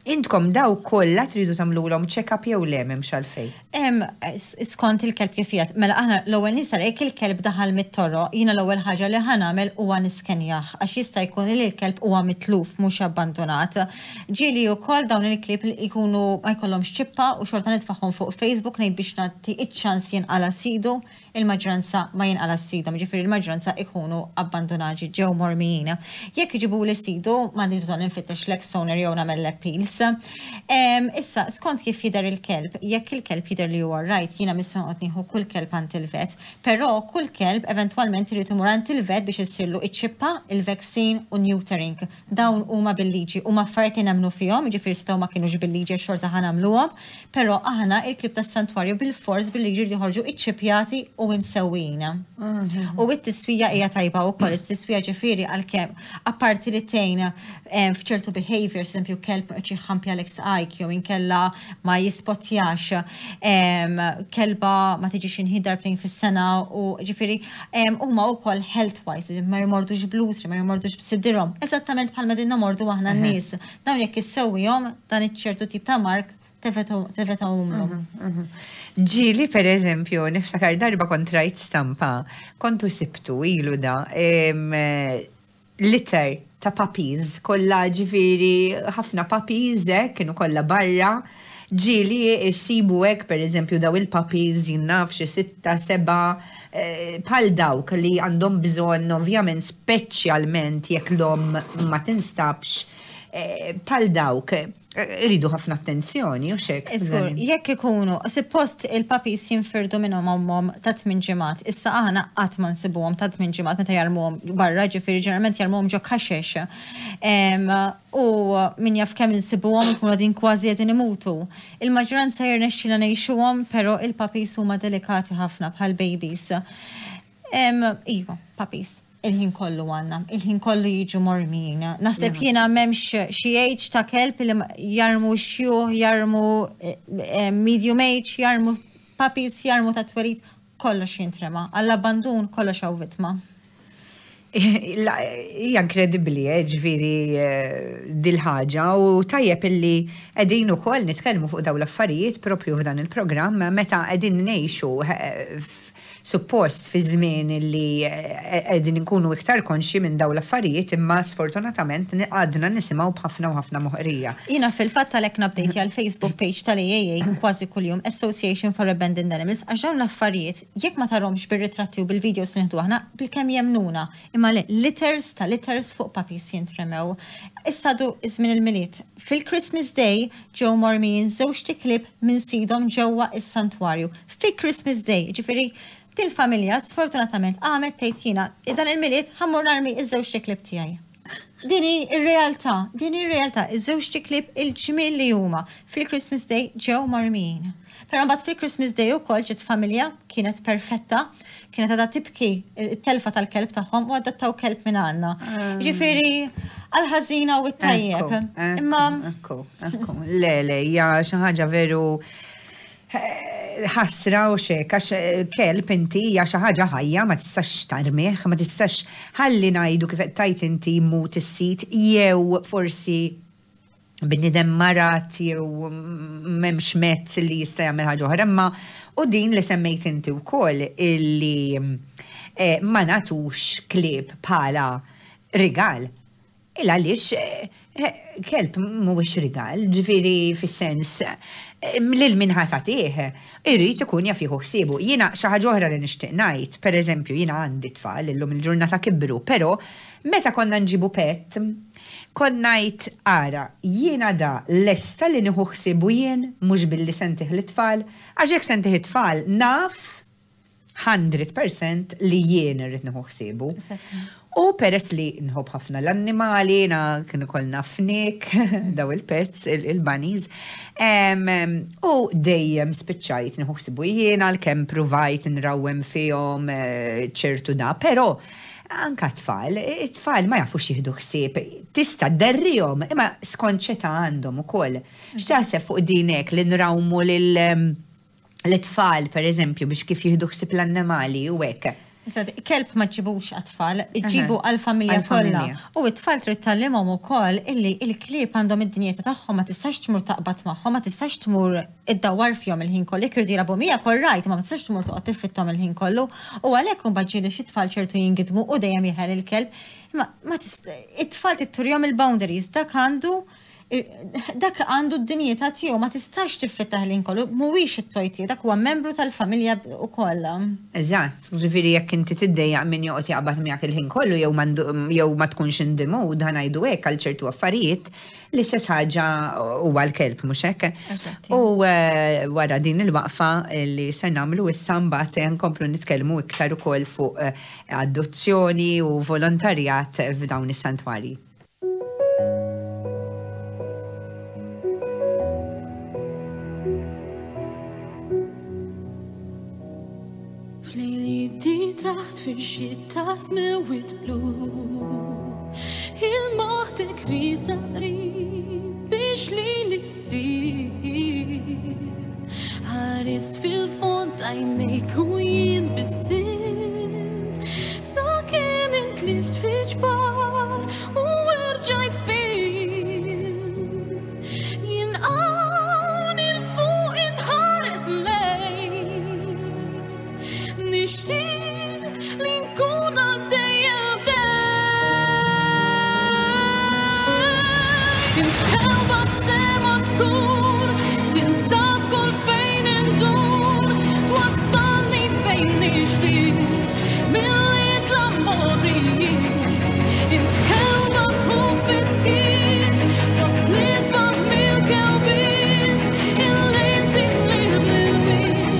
Intkom dawk kollha tridu tagħmlulhom check-up jew le m'hemmx għalfejn? Skont il-kelb kif qiegħed. Mela aħna l-ewwel nies ara jekk il-kelb daħal mit-toroq, jiena l-ewwel ħaġa li ħa nagħmel huwa niskenjah għax jista' jkun li l-kelb huwa mitluf mhux abbandunat. Ġieli wkoll dawn il-klieb jkunu ma jkollhomx ċippa u xorta nitfagħhom fuq Facebook ngħid biex nagħti ċ-ċans jinqala' sidu. Il-maġġoranza ma jinqala' sidhom, jiġifieri l-maġġoranza ikunu abbandunati, ġew mormijin. Jekk iġibuli sidu, m'għandix bżonn infittex l-ex owner jew nagħmel l-appeals. Issa, skont kif jidher il-kelb, jekk il-kelb jidher li huwa right, jiena mhix se noqgħod nieħu kull kelb għand il-vet, però kull kelb eventwalment irid imur għand il-vet biex issirlu iċ-ċippa, il-vaccine u neutering. Dawn huma bil-liġi, huma affarijiet li nemmnu fihom, jiġifieri setgħu ma kinux bil-liġi għax xorta ħa nagħmluhom, Però aħna il-klieb tas-santwarju bilfors billi jridu joħorġu iċċippjati u imsewwijin. U t-tiswija hija tajba wkoll, it-tiswija ġifieri għalkemm apparti li tgħin f'ċertu behaviors, eżempju kelb ma joqgħodx jħampjalek saqajk jew inkella ma jispottjax, kelba ma tiġix inħid darbtejn fis-sena u ġifieri huma wkoll health wise, ma jmordux bl-utri, ma jmordux b'sidirhom, eżattament bħalma qegħdin nomordu aħna n-nies. Dawn jekk issewwihom dan iċ-ċertu tip ta' mark tevetahomlhom. Ġieli per eżempju, niftakar darba kont rajt stampa, kontu sibtu ilu da, litter ta' puppies, kollha ġifieri ħafna puppies hekk, kienu kollha barra. Ġieli ssibu hekk per eżempju daw il-puppies jien naf xi sitta, seba', bħal dawk li għandhom bżonn ovvjament speċjalment jekk l-omm ma tinstabx, bħal dawk iridu ħafna attenzjoni u xek. Iżgur, jekk ikunu, suppost il-puppies jinfirdu minn ommhom ta' 8 ġimgħat, issa aħna qatt ma nsibuhom ta' 8 ġimgħat meta jarmuhom barra, ġifieri ġeneralment jarmuhom ġo kaxex. U min jaf kemm insibuhom ikunu qegħdin kważi qegħdin imutu. Il-maġġoranza jirnexxilna ngħixuhom, però il-puppies huma delikati ħafna bħal babies. Iva, puppies. Il-ħin kollu għandna, il-ħin kollu jiġu mormijin. Naħseb jiena m'hemmx xi age ta' kelb li jarmu xjuħ, jarmu medium age, jarmu puppies, jarmu ta' twelid, kollox jintrema. Għall-abbandun kollox hawn vittma. Hija inkredibbli, ġifieri dil-ħaġa u tajjeb illi qegħdin ukoll nitkellmu fuq dawn l-affarijiet propju f'dan il-programm meta qegħdin ngħixu suppost fi żmien li qegħdin inkunu iktar konxji minn dawn l-affarijiet imma sfortunatament għadna nisimgħu b'ħafna u ħafna moħqrija. Jiena fil-fatt għalhekk nupdejtja l-Facebook page tal-AAA kważi kuljum, Association for Abandoned Animals, għax dawn l-affarijiet jekk ma tarhomx bir-ritratti u bil-videos li nieħdu aħna, bilkemm jemmnuna. Imma le, litters ta' litters fuq puppies jintremew. Issa għadu żmien il-Milied. Fil-Christmas Day ġew mormijin żewġt iklieb minn sidhom ġewwa s-santwarju. Fi Christmas Day, jiġifieri dil-familja sfortunatament qamet tgħid jiena dan il-Milied ħa mmur narmi ż-żewġt iklieb tiegħi. Din hi r-realtà, din hi r-realtà, iż-żewġt iklieb il-ġmiel li huma fil-Christmas Day ġew mormijin. Però mbagħad fil-Christmas Day ukoll ġiet familja kienet perfetta, kienet għadha tibki t-telfa tal-kelb tagħhom u adattaw kelb minn għandna. Ġifieri għall-ħażina u t-tajjeb. Imma Ekku, ekku. Le, le, hija xi ħaġa veru ħasra u xek, għax kelb inti hija xi ħaġa ħajja ma tistax tarmih, ma tistax ħalli ngħidu kif qed tgħid inti jmut is-sid jew forsi bniedem marad jew m'hemmx mezz li jista' jagħmel ħaġa oħra, imma u din li semmejt inti wkoll illi ma nagħtux klieb bħala rigal. Il għaliex kelb mhuwiex rigal, ġifieri fis-sens lil min ħa tagħtih irid ikun jaf jieħu ħsiebu. Jiena xi ħaġa oħra li nixtieq ngħid, pereżempju jiena għandi tfal illum il-ġurnata kibru, però meta konna nġibu pet, kont ngħid ara jiena da lesta li nieħu ħsiebu jien mhux billi se ntih lit-tfal, għax jekk se ntih it-tfal naf. 100% li jien irrid nieħu ħsiebu. U peress li nħobb ħafna l-annimali, na kienu kollna fnik, daw il-pets, il-bunnies, u dejjem spiċċajt nieħu ħsiebu jien għalkemm pruvajt nrawwem fihom ċertu da, però anka tfal, it-tfal ma jafux jieħdu ħsieb, tista' dderrihom, imma skont x'età għandhom ukoll. X'taħseb fuq din hekk li nrawmu lil l-tfal, per eżempju, biex kif jieħdu ħsieb l-annimali u hekk? Kelb ma ġibux għat-tfal, ġibu għal-familja kollha. U t-tfal trid tgħallimhom ukoll illi il-klieb għandhom id-dinjità tagħhom, ma tistax tmur taqbad magħhom, ma tistax tmur iddawwar fihom il-ħin kollu. Jekk iridu jilagħbu miegħek all right, ma tistax tmur toqgħod tiffitthom il-ħin kollu. U għalhekk imbagħad ġieli xi tfal ċertu jingidmu u dejjem jeħel il-kelb. Imma it-tfal trid turihom il-boundaries, dak għandu dak għandu d-dinjità tiegħu, ma tistax tiffittah il-ħin kollu, mhuwiex it-toy tiegħu, dak huwa membru tal-familja wkoll. Eżatt, ġifieri jekk inti tiddejjaq min joqgħod jaqbad miegħek il-ħin kollu jew jew ma tkunx in the mood, ħa ngħidu hekk, għal ċertu affarijiet, l-istess ħaġa huwa l-kelb, mhux hekk? U wara din il-waqfa li ser nagħmlu issa mbagħad nkomplu nitkellmu iktar ukoll fuq adozzjoni u volontarjat f'dawn is-santwarji. Flejli taħt fil-xita smewit blu, il-moħtek risaqri biex li l-sir. Ħarist fil-fond għajnejk u jien bissimt, sa kien intlift fi ġbar u rġajt fint. Jien hawn il-fuq inħares lejk, nixtieq li nkun għaddejja bdejk. Intelba f'sema skur, tinsab kull fejn indur, twassalni fejn nixtieq, milli tlammodijiet. Int kelba tħuf fis-skiet, fost l-isbaħ mill-kelbiet, il-lejl tinlih bl-ilwien,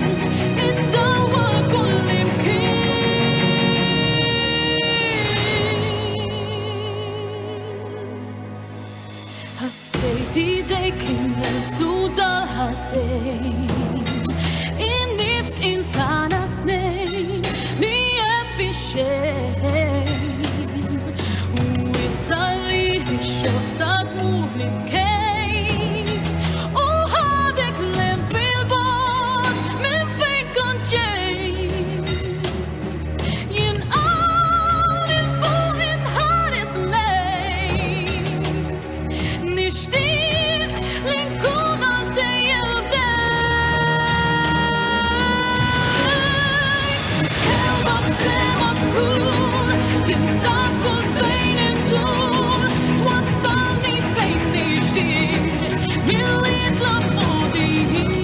iddawwar kull imkien. Ħassejt idejk inneżżu dal-ħaddejn, in-nifs intana tnejn li hemm fix-xejn. U issa li x-xotta tmur li bkejt, u ħadek lem fil-bogħod minn fejn kont ġejt. Jien hawn il-fuq inħares lejk, nixtieq li nkun għaddejja bdejk. Kelba f'sema skur, tinsab kull fejn indur, twassalni fejn nixtieq, milli tlammodijiet.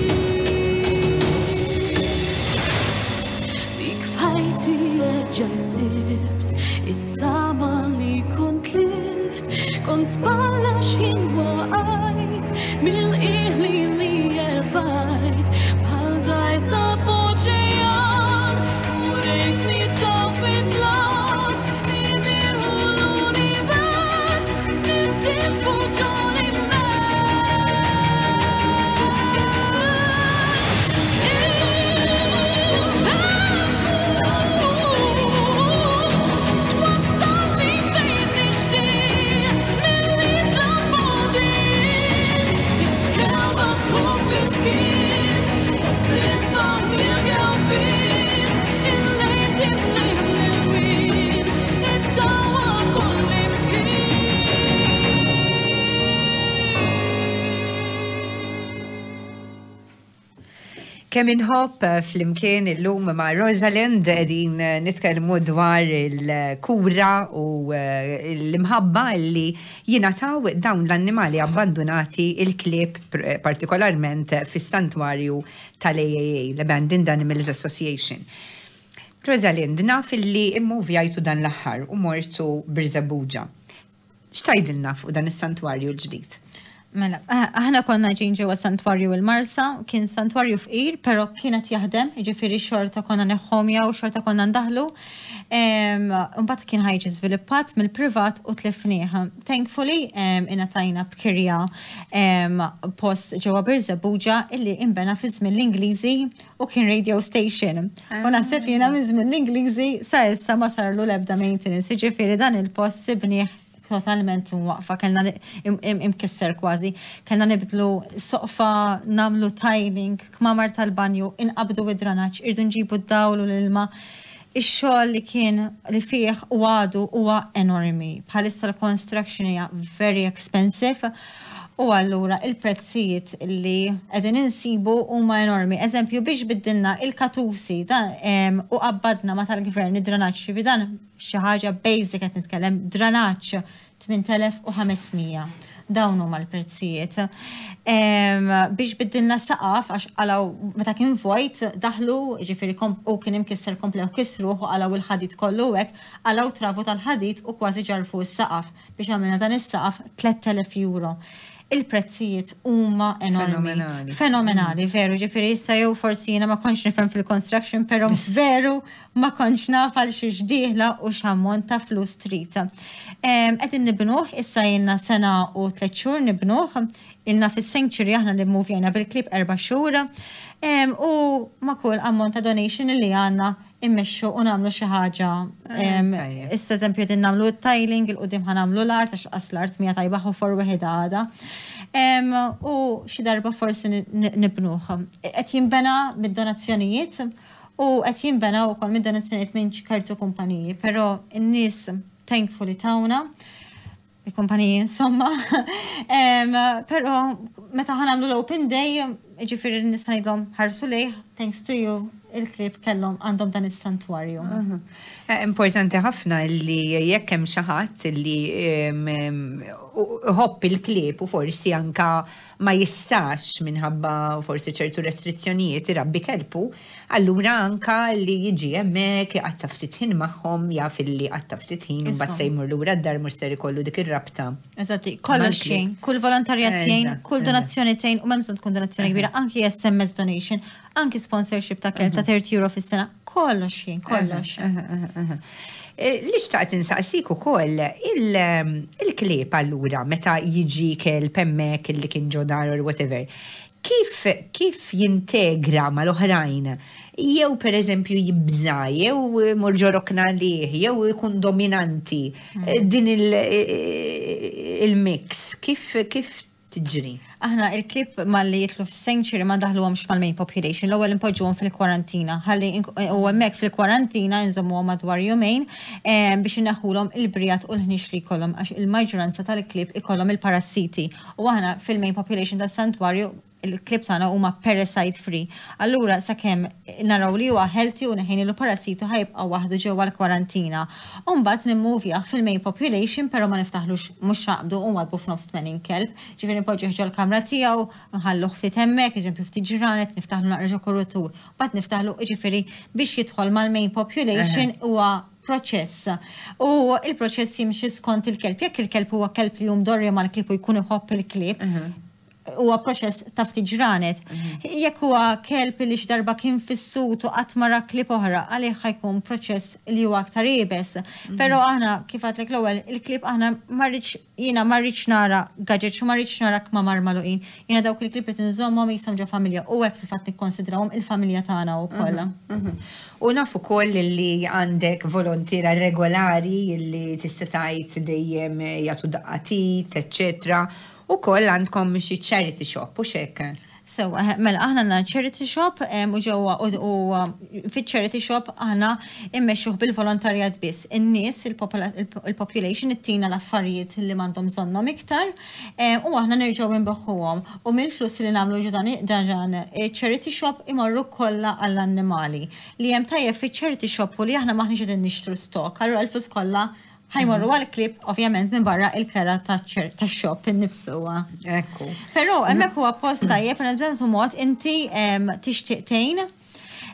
Dik f'ħajti erġajt sibt it-tama li kont tlift, kont spalla x'jien waqajt mill-qiegħ li li erfajt, bħal dgħajsa f'oċean, u rejtni taw fid-dlam, nimirħu l-univers, nintilfu ġol-immens. Twassalni fejn nixtieq, milli tlammodiet. Kelba tħuf fis-skiet, fost l-isbaħ mill-kelbiet, il-lejl timlih bl-ilwien, iddawwar kull imkien. Kemm inħobb flimkien illum ma' Rosalind qegħdin nitkellmu dwar il-kura u l-imħabba li jingħataw dawn l-annimali abbandunati, il-klieb partikolarment fis-santwarju tal-AAA, l-Abandoned Animals Association. Rosalind, naf illi immuvjajtu dan l-aħħar u mortu Birżebbuġa. X'tgħidilna fuq dan is-santwarju l-ġdid? Mela, aħna konna ġejjin ġewwa santwarju il-Marsa, kien santwarju fqir, però kienet jaħdem, jiġifieri xorta konna neħħomja u xorta konna ndaħlu. Imbagħad kien ħa jiġi żviluppat mill-privat u tlifnieh. Thankfully, ingħatajna b'kirja post ġewwa Birżebbuġa illi inbena fi żmien l-Ingliżi u kien radio station. U naħseb jiena minn żmien l-Ingliżi sa issa ma sarlu l-ebda maintenance, jiġifieri dan il-post sibnieh totalment waqfa, kellna imkisser kważi, kellna nibdlu soqfa, nagħmlu tiling, kmamar tal-banju, inqabdu id-dranaġġ, irdu nġibu d-dawl u l-ilma. Ix-xogħol li kien li fih u għadu huwa enormi. Bħalissa l-construction hija very expensive u allura il-prezzijiet li qegħdin insibu huma enormi. Eżempju, biex biddilna il-katusi dan u qabbadna ma tal-gvern id-dranaġġ, dan xi ħaġa basic qed nitkellem, dranaġġ 8500. Dawn huma l-prezzijiet. Biex biddilna saqaf, għax għalaw meta kien vojt, daħlu, ġifieri u kien imkisser komplew kisruh u għalaw il-ħadid kollu hekk, għalaw travu tal-ħadid u kważi ġarfu s-saqaf. Biex għamilna dan is-saqaf 3000 euro. Il-prezzijiet huma enormi. Fenomenali. Fenomenali, veru, ġifieri issa jew forsi jiena ma kontx nifhem fil-construction, però veru ma kontx naf għal xiex dieħla u x'ammont ta' flus trid. Qegħdin nibnuh, issa ilna sena u 3 xhur nibnuh, ilna fis-sanctuary aħna li mmuvjajna bil-klieb 4 xhur, u ma' kull ammont ta' donation li għandna immexxu u nagħmlu xi ħaġa. Issa eżempju qegħdin nagħmlu t-tiling, il-qudiem ħa nagħmlu l-art għax qas l-art mija tajba ħofor wieħed għada. U xi darba forsi nibnuh. Qed jinbena mid-donazzjonijiet u qed jinbena wkoll mid-donazzjonijiet minn ċertu kumpaniji, però n-nies thankfully tawna il-kumpaniji insomma. Però meta ħa nagħmlu l-open day, ġifieri nista' ngħidlhom ħarsu lejh, thanks to you, il-klieb kellhom għandhom dan is-santwarju. Importanti ħafna li jekk hemm xi ħadd li iħobb il-klieb u forsi anka ma jistax minħabba forsi ċertu restrizzjonijiet irabbi kelbu, allura anka li jiġi hemmhekk iqatta' ftit ħin magħhom, jaf illi qatta' ftit ħin u mbagħad se jmur lura d-dar mhux ser ikollu dik ir-rabta. Eżatti, kollox xejn, kull volontarjat jgħin, kull donazzjoni tgħin u m'hemm bżonn tkun donazzjoni kbira, anki SMS donation, anki sponsorship ta' kelb ta' 30 euro fis-sena, kollox jgħin, kollox. Li xtaqt insaqsik ukoll il-klieb allura meta jiġi kelb hemmhekk illi kien ġo dar or whatever, kif jintegra mal-oħrajn? Jew per eżempju jibża, jew imur ġo rokna għalih, jew ikun dominanti. Din il-mix, kif tiġri? Aħna il-klieb malli jitlu fis-sanctuary ma ndaħluhomx mal-main population, l-ewwel impoġġuhom fil-kwarantina, ħalli u hemmhekk fil-kwarantina nżommuhom madwar jumejn biex inneħħulhom il-brijat u l-ħniex li jkollhom, għax il-maġġoranza tal-klieb ikollhom il-parassiti. U aħna fil-main population tas-santwarju il-klieb tagħna huma parasite free. Allura sakemm naraw li huwa healthy u neħejnilu parasitu ħajbqa' waħdu ġewwa l-kwarantina. U mbagħad nimmuvjah fil-main population, però ma niftaħlux mhux naqbdu u nwadbu f'nofs 80 kelb. Ġifieri npoġġuh ġol-kamra tiegħu, nħalluh ftit hemmhekk, eżempju ftit ġranet, niftaħlu naqra ġo kurutur. Mbagħad niftaħlu ġifieri biex jidħol mal-main population huwa proċess. U il-proċess jimxi skont il-kelb. Jekk il-kelb huwa kelb li jum dorri mal-klieb u jkun iħobb il-klieb, huwa proċess ta' ftit ġranet. Jekk huwa kelb li xi darba kien fis-sut u qatt ma ra klieb oħra, għalih ħajkun proċess li huwa aktar iebes. Però aħna kif għedtlek l-ewwel, il-klieb aħna ma rridx, jiena ma rridx nara gadgets u ma rridx nara kmamar magħluqin. Jiena dawk il-klieb qed inżommhom jisom ġo familja u hekk fil-fatt nikkonsidrawhom il-familja tagħna wkoll. U naf ukoll li għandek volontira regolari li tista' tgħid dejjem jagħtu daqqatit, eċċetera. U koll għandkom xi charity shop, u xek? Sewa, mela, aħna għandna charity shop, u ġewwa u fiċ-charity shop aħna immexxuh bil-volontarjat biss. In-nies, il-population ittina l-affarijiet li m'għandhom bżonnhom iktar, u aħna nerġgħu nbeħħuhom. U mill-flus li nagħmlu ġo dan charity shop imorru kollha għall-annimali. Li hemm tajjeb fiċ-charity shop u li aħna maħniex qegħdin nixtru stock, allura l-flus kollha ħajmorru għal-klieb, ovvjament minn barra il-kera ta' shop innifsu. Però hemmhekk huwa post tajjeb, per eżempju, mod inti tixtieq tgħin.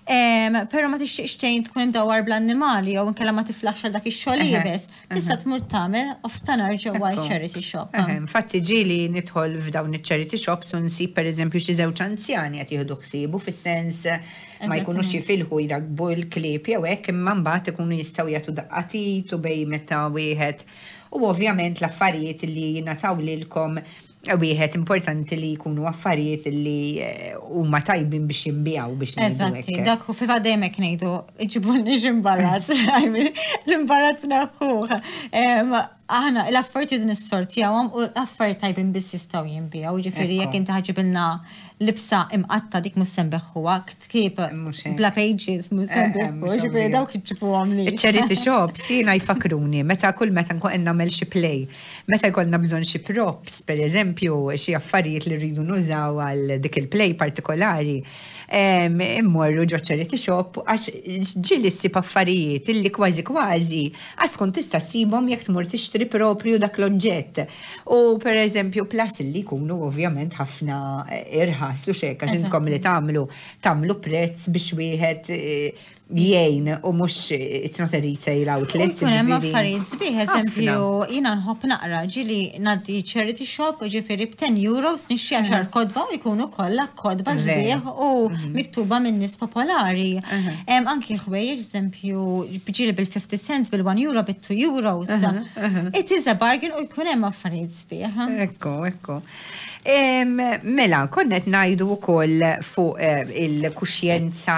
Però ma tixtieqx tgħin tkun imdawwar bl-annimali jew inkella ma tiflaħx għal dak ix-xogħol iebes, tista' tmur tagħmel nofstanhar ġewwa charity shop. Infatti ġieli nidħol f'dawn iċ-charity shops u nsib, pereżempju, xi żewġ anzjani qed jieħdu ħsiebu, fis-sens ma jkunux jifilħu jrabbu l-klieb jew hekk, imma mbagħad ikunu jistgħu jagħtu daqqa t'id u bej meta wieħed u ovvjament l-affarijiet li jingħataw lilkom, wieħed importanti li jkunu affarijiet li huma tajbin biex jinbiegħu, biex ngħidu Eżatti, hekk. Dak fil-fatt dejjem hekk ngħidu, iġibulniex imbarazz, I mean, l-imbarazz neħħuh. Aħna l-affarijiet nissortjawhom u l-affarijiet tajbin biss jistgħu jinbiegħu, ġifieri jekk inti ħa ġġibilna libsa imqatta, dik mhux se nbigħuha, ktieb Mhux hekk. bla pages mhux se nbigħuha, mhux ġifieri ovvja. dawk iġibuhom li. Charity shops jiena jfakruni meta kull meta nkun qed nagħmel xi play, meta jkollna bżonn xi props, per eżempju, xi affarijiet li rridu nużaw għal dik il-play partikolari, immorru ġo charity shop għax ġieli ssib affarijiet illi kważi kważi għax tkun tista' ssibhom jekk tmur tixtri propju dak l-oġġett. U per eżempju, plus li jkunu ovvjament ħafna irħas u xek, għax intkom li tagħmlu prezz biex wieħed jgħin u mhux, it's not a retail outlet. U jkun hemm ġifieri. affarijiet sbieħ, eżempju, Ħafna. jiena nħobb naqra, ġieli ngħaddi charity shop, ġifieri b'10 euros nixtri 10 kotba u jkunu kollha kotba sbieħ u miktuba minn nies popolari. Anki ħwejjeġ, eżempju, ġieli bil-50 cents, bil-1 euro, bil-2 euros. It is a bargain u jkun hemm affarijiet sbieħ. Ekku. Mela, konna qed ngħidu wkoll fuq il-kuxjenza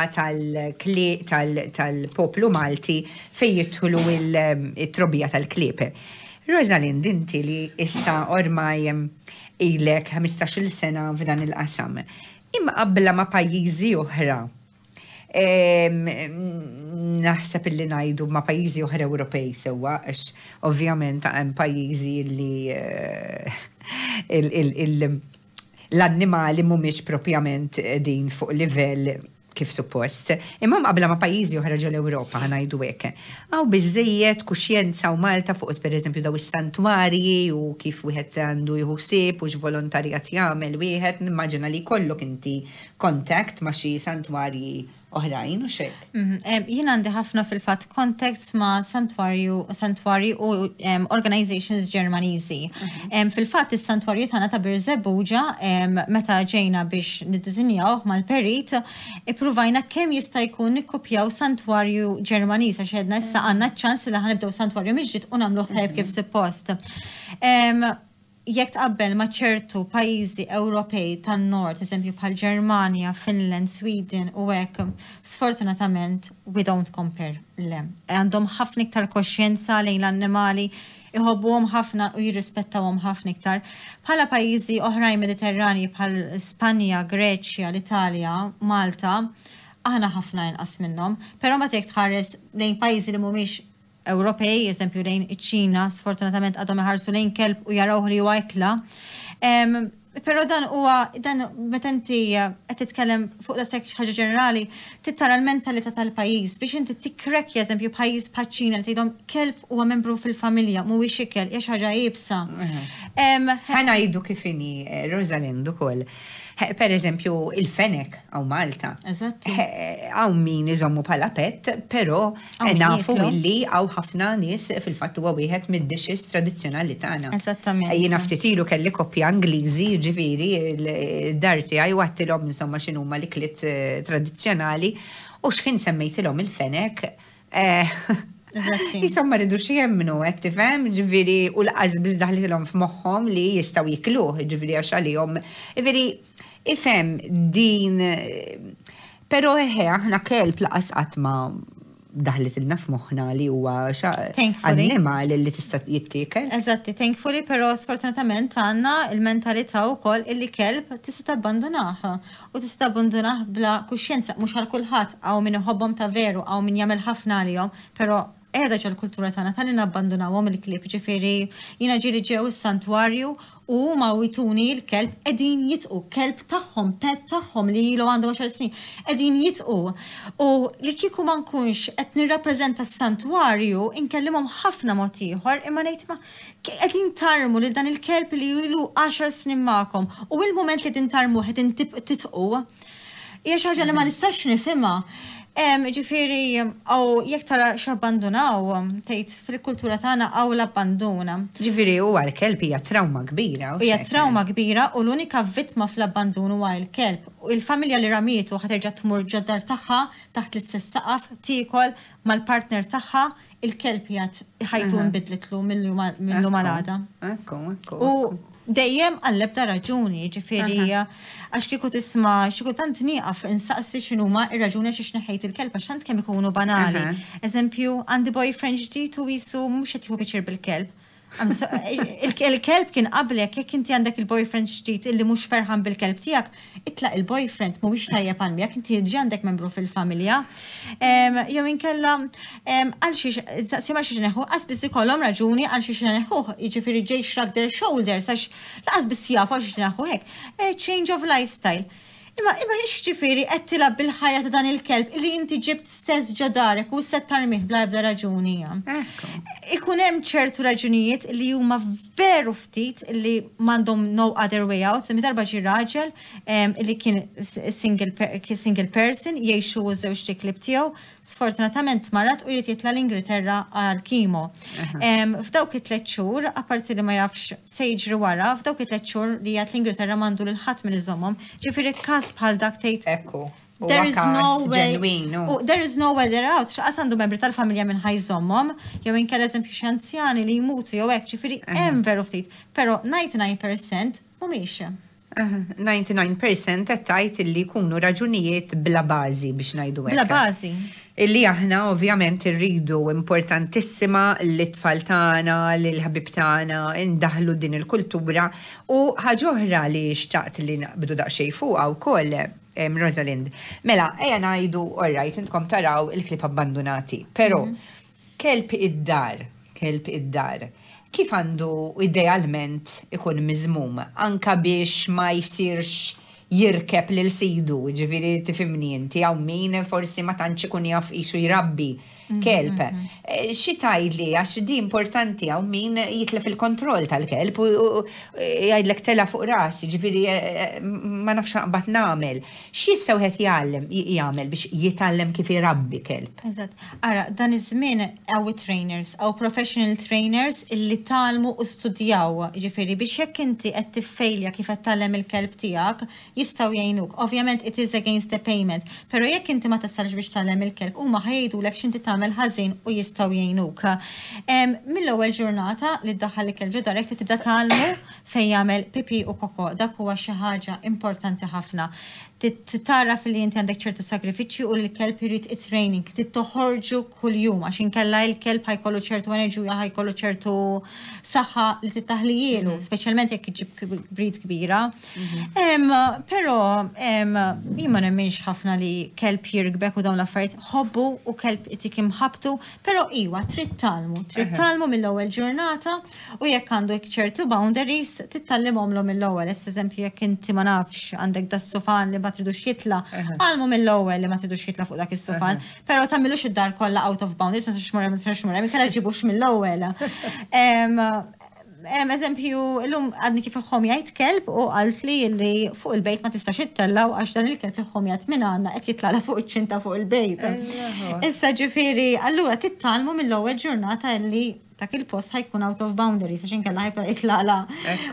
tal-poplu Malti fejn jidħlu il-trobbija tal-klieb. Rosalind, inti li issa ormai ilek 15-il sena f'dan il-qasam. Imma qabla ma' pajjiżi oħra, naħseb illi ngħidu ma' pajjiżi oħra Ewropej sewwa, għax ovvjament hemm pajjiżi li l-annimali mhumiex propjament din fuq livell kif suppost. Imma qabla ma' pajjiżi oħra ġol Ewropa, ħa ngħidu hekk. Hawn biżejjed kuxjenza u Malta fuq, pereżempju, daw is-santwarji u kif wieħed għandu jieħu ħsieb u x'volontarjat jagħmel wieħed, nimmaġina li jkollok inti contact ma' xi santwarji oħrajn u xejn. Jien għandi ħafna fil-fatt contacts ma' santwarji u organizations Ġermaniżi. Fil-fatt is-santwarju tagħna ta' Birżebbuġa, meta ġejna biex niddisinjawh mal-perit, ippruvajna kemm jista' jkun nikkupjaw santwarju Ġermaniż għax għedna issa għandna ċans li ħa nibdew santwarju mill-ġdid u nagħmluh tajjeb kif suppost. Jekk tqabbel ma' ċertu pajjiżi Ewropej tan-nord, eżempju bħal Ġermanja, Finland, Sweden u hekk, sfortunatament we don't compare, le. Għandhom ħafna iktar koxjenza lejn l-annimali, iħobbuhom ħafna u jirrispettawhom ħafna iktar. Bħala pajjiżi oħrajn Mediterrani bħal Spanja, Greċja, l-Italja, Malta, aħna ħafna inqas minnhom, però ma jekk tħares lejn pajjiżi li mhumiex Ewropej, eżempju lejn iċ-Ċina, sfortunatament għadhom iħarsu lejn kelb u jaraw li huwa ikla. Però dan huwa dan meta inti qed titkellem fuq da sekk ħaġa ġenerali, tittara l-mentalità tal-pajjiż biex inti tikkrekja, eżempju, pajjiż bħaċ-Ċina li tgħidhom kelb huwa membru fil-familja, mhuwiex ikel, hija xi ħaġa iebsa. Ħa ngħidu kif inhi, Rosalind, ukoll. Per eżempju, il-fenek hawn Malta. Hawn min iżommu bħala pet, però Hawn min nafu jieklu. illi hawn ħafna nies, fil-fatt huwa wieħed mid-dishes tradizzjonali tagħna. Jiena ftit ilu kelli koppja Ingliżi, ġifieri, il-dar tiegħi u għedtilhom insomma x'inhuma l-ikliet tradizzjonali u x'ħin semmejtilhom il-fenek, insomma ridux jemmnu, qed tifhem, ġifieri, u lanqas biss daħlitilhom f'moħħhom li jistgħu jikluh, ġifieri għax għalihom, ġifieri, ifhem din, però eħe, aħna kelb lanqas qatt ma daħlitilna f'moħħna li huwa Thankfully. annimali li tista' jittiekel. Eżatti, thankfully, però sfortunatament għandna il-mentalità wkoll illi kelb tista' tabbandunah u tista' tabbandunah bla kuxjenza, mhux għal kulħadd, hawn min iħobbhom ta' veru, hawn min jagħmel ħafna għalihom, però qiegħda ġol kultura tagħna tal nabbandunawhom il-klieb, ġifieri jiena ġieli ġew is-santwarju u huma jtuni l-kelb qegħdin jidħqu, kelb tagħhom, pet tagħhom li ilu għandu 10 snin, qegħdin jidħqu. U li kieku ma nkunx qed nirrappreżenta s-santwarju, inkellimhom ħafna mod ieħor, imma ngħid ma qegħdin tarmu lil dan il-kelb li ilu 10 snin magħkom u il-moment li qegħdin tarmu qegħdin tidħqu. Hija xi ħaġa li ma nistax nifhimha. Ġifieri, u jekk tara x'abbandunaw, tgħid fil-kultura tagħna hawn l-abbanduna. Ġifieri huwa l-kelb hija trauma kbira. Hija trauma kbira u l-unika vittma fl-abbandun huwa l-kelb. Il-familja li ramietu ħa terġa' tmur ġod-dar tagħha taħt l-istess saqaf, tiekol mal-partner tagħha, il-kelb qiegħed ħajtu nbidlitlu mill-lum għal għada. Ekku. U dejjem għall-ebda raġuni, ġifieri, għax kieku tisma' xi kultant nieqaf insaqsi x'inhuma ir-raġuni għax neħħejt il-kelb għax tant kemm ikunu banali. Eżempju, għandi boyfriend ġdid u jisu mhux qed jieħu pjaċir bil-kelb. Il-kelb kien qablek, jekk inti għandek il-boyfriend ġdid illi mhux ferħan bil-kelb tiegħek, itlaq il-boyfriend mhuwiex tajjeb għal miegħek, inti diġà għandek membru fil-familja. Jew inkella għal xiex, saqsihom għal xiex neħu, qas biss ikollhom raġuni għal xiex neħuh, jiġifieri ġej shrug their shoulders għax laqas biss jafu għal xiex neħu hekk. Change of lifestyle. Imma ġifieri qed tilgħab bil-ħajja ta' dan il-kelb li inti ġibt stess ġo darek u se tarmih bla ebda raġuni. Ikun hemm ċertu raġunijiet li huma veru ftit li m'għandhom no other way out. Semmi darba ġi raġel li kien single person jgħixu u żewġ klieb tiegħu, sfortunatament marad u jrid jitla' l-Ingilterra għal chemo. F'dawk it-3 xhur, apparti li ma jafx se jiġri wara, f'dawk it-3 xhur li jgħat l-Ingilterra m'għandu lil ħadd minn iżommhom, ġifieri każ bħal dak tgħid There is no way. There is no way out. X'qas għandu membri tal-familja minn ħa jżommhom, jew inkella eżempju xi anzjani li jmutu jew hekk, ġifieri hemm veru ftit, però 99% mhumiex. 99% qed tgħid illi jkunu raġunijiet bla bażi biex ngħidu hekk. Bla bażi. Illi aħna ovvjament irridu importantissima li tfal tagħna, li l-ħbib tagħna indaħlu din il-kultura u ħaġa oħra li xtaqt li naqbdu daqsxejn fuqha wkoll, Rosalind. Mela, ejja ngħidu, all right, intkom taraw il-klieb abbandonati, però kelb id-dar, kelb id-dar, kif għandu idealment ikun miżmum, anka biex ma jsirx jirkeb lil sidu, ġifieri tifhimni inti, hawn min forsi ma tantx ikun jaf isu jrabbi kelb. Xi tgħidli, għax di importanti, hawn min jitlef il-kontroll tal-kelb u jgħidlek tela' fuq rasi, ġifieri ma nafx naqbad nagħmel. X'jista' wieħed jagħmel biex jitgħallem kif irabbi kelb? Eżatt. Ara, dan iż-żmien hawn trainers, hawn professional trainers illi tgħallmu u studjaw, ġifieri biex jekk inti qed tiffejlja kif qed tgħallem il-kelb tiegħek, jistgħu jgħinuk. Ovvjament it is against the payment, però jekk inti ma tasalx biex tgħallem il-kelb, huma ħa jgħidulek x'inti tagħmel ħażin u jistgħu jgħinuk. Mill-ewwel ġurnata li ddaħħal il-kelb ġo darek tibda tgħallmu fejn jagħmel pipi u koko, dak huwa xi ħaġa importanti ħafna. Tara fil-li inti għandek ċertu sagrifiċċji u l-kelb irid it-training, trid toħorġu kuljum għax inkella il-kelb ħa jkollu ċertu enerġija, ħa jkollu ċertu saħħa li tittaħlijielu, speċjalment jekk iġib breed kbira. Però jien ma nemminx ħafna li kelb jirkbek u dawn l-affarijiet, ħobbu u kelb itik imħabtu, però iwa trid tgħallmu, trid tgħallmu mill-ewwel ġurnata u jekk għandu ċertu boundaries titgħallimhomlu mill-ewwel. Eżempju, jekk inti ma nafx għandek das-sufan li ma tridux jitla', għallmu mill-ewwel li ma tridux jitla' fuq dak is-sufan, però tagħmilux id-dar kollha out of boundaries, ma tistax mur, ma tistax mur, inkella ġibux mill-ewwel. Eżempju, illum għadni kif ħomjajt kelb u għalt li li fuq il-bejt ma tistax ittellaw għax dan il-kelb li ħomjat minn għandna qed jitlala fuq iċ-ċinta fuq il-bejt. Issa ġifieri, allura titgħallmu mill-ewwel ġurnata li dak il-post ħa jkun out of boundaries, għax inkella ħa jibda jitlala